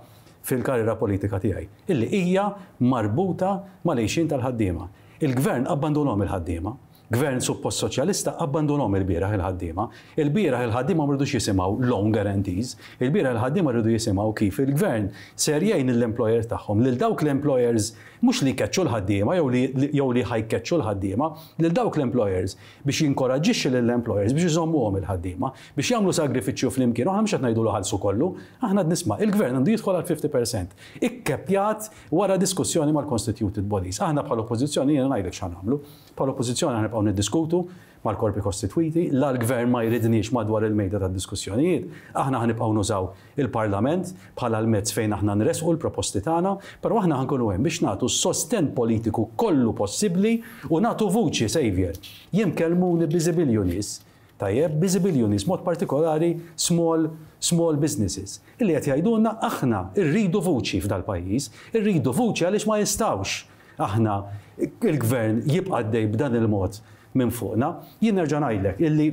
fil-karriera politika tiegħi, illi hija marbuta mal-għixien tal-ħaddiema. Il-Gvern abbandunhom il-ħaddiema. Gvern suppost soċjalista abbandunhom ilbieraħ il-ħaddiema. Ilbieraħ il-ħaddiema ma ridux jisimgħu loan guarantees. Ilbieraħ il-ħaddiema riedu jisimgħu kif il-Gvern ser jgħin lill-employers tagħhom, lil dawk l-employers mhux li jkeċċu l-ħaddiema jew li jew li ħa jkeċċu l-ħaddiema, lil dawk l-employers biex jinkoraġġixxi lill-employers biex iżommuhom il-ħaddiema, biex jagħmlu sagrifiċċju flimkien. U aħna mhux qed ngħidulu ħallsu kollu, aħna qed nisma' il-Gvern għandu jidħol għal 50%. Ikkeppjat wara diskussjoni mal-constituted bodies. Aħna bħala Oppożizzjoni jiena ngħidlek x'ħa nagħmlu. Bħala Oppożizzjoni aħna nibqgħu niddiskutu mal-korpi kostitwiti, la l-Gvern ma jridniex madwar il-mejda tad-diskussjonijiet, aħna ħa nibqgħu nużaw il-Parlament bħala l-mezz fejn aħna nressqu l-proposti tagħna, però aħna ħa nkunu hemm biex nagħtu s-sostenn politiku kollu possibbli u nagħtu vuċi, Saviour. Jien kellmuni biżibilju nies, tajjeb, biżibilju nies, mod partikolari small small businesses, illi qed jgħidulna aħna rridu vuċi f'dal-pajjiż, irridu vuċi għaliex ma jistgħux Aħna, il-Gvern jibqa' għaddej b'dan il-mod minn fuqna. Jien nerġa' ngħidlek illi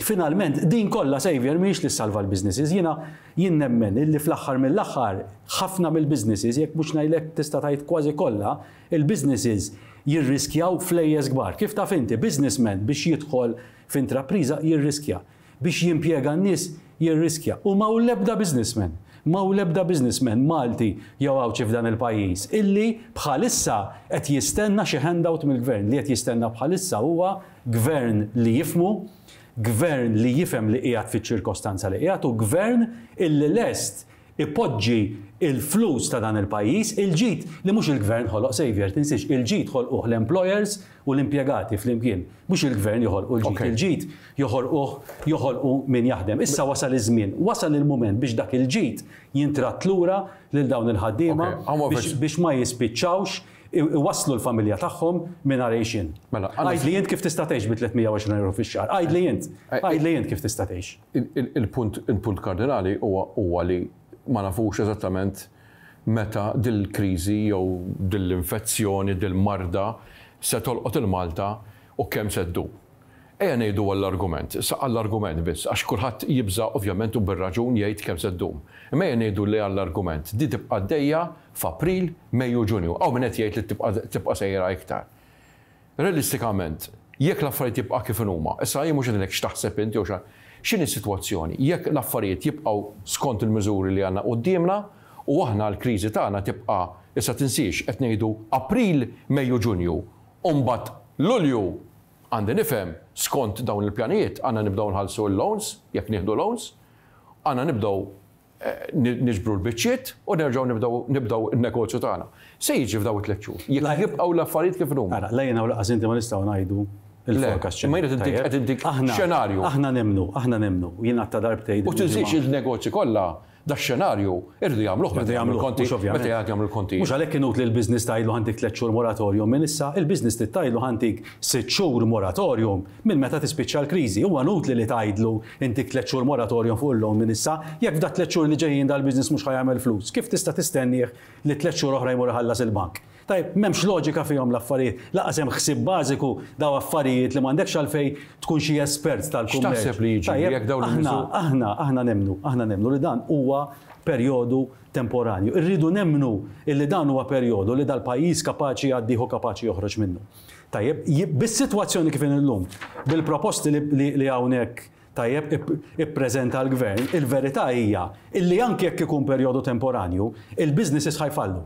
finalment din kollha Saviour mhijiex li ssalva l-businesses. Jiena jien nemmen illi fl-aħħar mill-aħħar ħafna mill-businesses, jekk mhux ngħidlek tista' tgħid kważi kollha, il-businesses jirriskjaw flejjes kbar. Kif taf inti, businessman biex jidħol f'intrapriża jirriskja. Biex jimpjega n-nies jirriskja. U m'hawn l-ebda businessman, m'hawn l-ebda businessman Malti jew Għawdxi f'dan il-pajjiż illi bħalissa qed jistenna xi handout mill-Gvern. Li qed jistenna bħalissa huwa Gvern li jifhmu, Gvern li jifhem li qiegħed fiċ-ċirkostanza li qiegħed u Gvern illi lest ipoġġi l-flus ta' dan il-pajjiż, il-ġid li mhux il-Gvern ħoloq Saviour, tinsiex, il-ġid ħolquh l-employers u l-impjegati flimkien, mhux il-Gvern joħolqu l-ġid, il-ġid joħolquh joħolqu min jaħdem. Issa wasal iż-żmien, wasal il-mument biex dak il-ġid jintradd lura lil dawn il-ħaddiema biex ma jispiċċawx iwasslu l-familja tagħhom mingħajr għixien. Għidli int kif tista' tgħix bi 320 ewro fix-xahar. Għidli int. Għidli int kif tista' tgħix. Il-punt il-punt kardinali huwa huwa li ma nafux eżattament meta dil-kriżi jew dil-infezzjoni, dil-marda se tolqot il-Malta u kemm se ddum. Ejja ngħidu għall-argument, sa għall-argument biss, għax kulħadd jibża' ovvjament u bir-raġun jgħid kemm se ddum. Imma ejja ngħidu li għall-argument di tibqa' għaddejja f'April, Mejju, Ġunju. Hawn min qed jgħid li tibqa' tibqa' sejra iktar. Realistikament, jekk l-affarijiet jibqa' kif inhuma, issa jien mhux qed ngħidlek x'taħseb int jew x'a, x'inhi s-sitwazzjoni, jekk l-affarijiet jibqgħu skont il-miżuri li għandna quddiemna u aħna l-kriżi tagħna tibqa' issa tinsiex qed ngħidu April, Mejju, Ġunju u mbagħad Lulju għandi nifhem skont dawn il-pjanijiet għandna nibdew nħallsu l-loans, jekk nieħdu loans, għandna nibdew niġbru l-biċċiet u nerġgħu nibdew nibdew in-negozju tagħna. Se jiġri f'dawn it-tliet xhur? Jekk jibqgħu l-affarijiet kif inhuma. Ara, la jiena u lanqas inti ma nistgħu ngħidu l-forecast x'inhu. Imma jien qed intik qed intik xenarju. Aħna nemmnu, aħna nemmnu, jien għadta darbtejn. U tinsiex il-negozji kollha dax-xenarju iridu jagħmluh meta jagħmlu l-konti. Meta jagħmlu l-konti. Mhux għalhekk inutli l-business tgħidlu ħa ntik tliet xhur moratorium minn issa, il-business trid tgħidlu ħa ntik sitt xhur moratorium minn meta tispiċċa l-kriżi. Huwa inutli li tgħidlu intik tliet xhur moratorium fuq il-loan minn issa, jekk f'dat-tliet xhur li ġejjin dal-business mhux ħa jagħmel flus, kif tista' tistennieh li tliet xhur oħra jmur iħallas il-bank? Tajjeb, m'hemmx loġika fihom l-affarijiet, lanqas hemm ħsieb bażiku dawn affarijiet li m'għandekx għalfejn tkun xi espert tal-kummerċ. X'taħseb li jiġri jekk dawn il-miżuri. Aħna, aħna, aħna nemmnu, aħna nemmnu li dan huwa perjodu temporanju. Irridu nemmnu illi dan huwa perjodu li dal-pajjiż kapaċi jgħaddih u kapaċi joħroġ minnu. Tajjeb, bis-sitwazzjoni kif inhi llum, bil-proposti li hawnhekk tajjeb ippreżenta l-Gvern, il-verità hija illi anki jekk ikun perjodu temporanju, il-businesses ħa jfallu.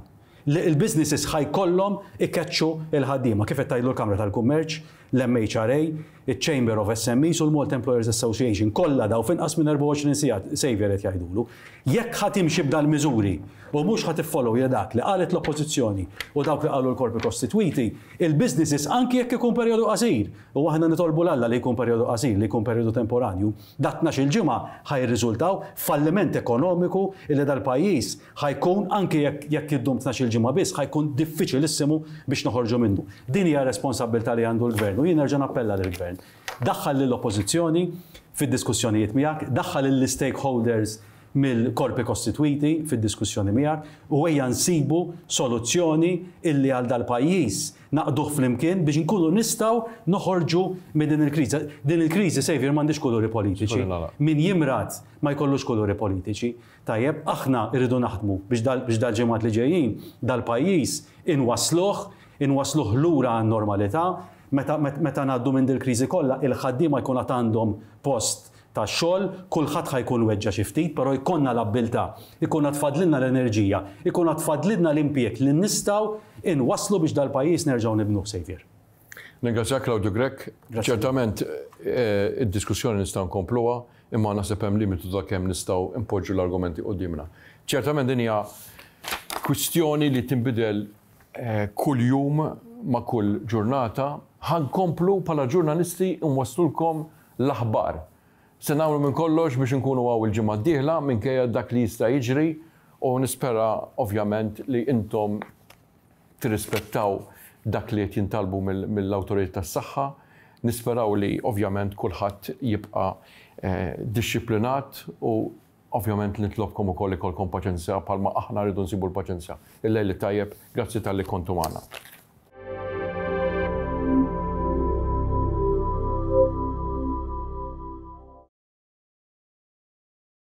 Il-businesses ħa jkollhom ikeċċu l-ħaddiema, kif qed tgħidlu l-Kamra tal-Kummerċ, l-MHRA, iċ-Chamber of SMEs u l-Malta Employers Association. Kollha daw f'inqas minn 24 siegħa Saviour qed jgħidulu. Jekk ħa timxi b'dal-miżuri u mhux ħa tiffollowja dak li qalet l-Oppożizzjoni u dawk li qalu l-korpi kostitwiti, il-businesses anki jekk ikun perjodu qasir, u aħna nitolbu 'l Alla li jkun perjodu qasir, li jkun perjodu temporanju, dat-tnax-il ġimgħa ħa jirriżultaw f'falliment ekonomiku illi dal-pajjiż Ħa jkun, anki jekk jekk iddum tnax-il ġimgħa biss, ħa jkun diffiċilissimu biex noħorġu minnu. Din hija r-responsabbiltà li għandu l-Gvern u jien nerġa' nappella lill-Gvern. Daħħal lill-Oppożizzjoni fid-diskussjonijiet miegħek, daħħal lill-istakeholders mill-korpi kostitwiti fid-diskussjoni miegħek u ejja nsibu soluzzjoni illi għal dal-pajjiż naqduh flimkien biex inkunu nistgħu noħorġu minn din il-kriżi. Din il-kriżi, Saviour, m'għandhiex kuluri politiċi. Min jimrad ma jkollux kuluri politiċi. Tajjeb, aħna rridu naħdmu biex dal biex dal-ġimgħat li ġejjin dal-pajjiż inwassluh, inwassluh lura għan-normalità, meta meta ngħaddu minn dil-kriżi kollha il-ħaddiema jkun għad għandhom post tax-xogħol, kulħadd ħa jkun weġġa' xi ftit, però jkollna l-abbiltà, ikun għad fadlilna l-enerġija, ikun għad fadlilna l-impjieg li nistgħu inwasslu biex dal-pajjiż nerġgħu nibnuh, Saviour. Ningrazzjak Claudio Grech. Ċertament id-diskussjoni nistgħu nkompluha, imma naħseb hemm limitu ta' kemm nistgħu npoġġu l-argumenti quddiemna. Ċertament din hija kwistjoni li tinbidel kuljum ma' kull ġurnata. Ħa nkomplu bħala ġurnalisti nwasslulkom l-aħbar. Se nagħmlu minn kollox biex inkunu hawn il-ġimgħa d-dieħla minkejja dak li jista' jiġri u nispera ovvjament li intom tirrispettaw dak li qed jintalbu mill-awtoritajiet tas-saħħa. Nisperaw li ovvjament kulħadd jibqa' dixxiplinat u ovvjament nitlobkom ukoll ikollkom paċenzja bħalma aħna rridu nsibu l-paċenzja. Il-lejl it-tajjeb, grazzi talli kontu magħna.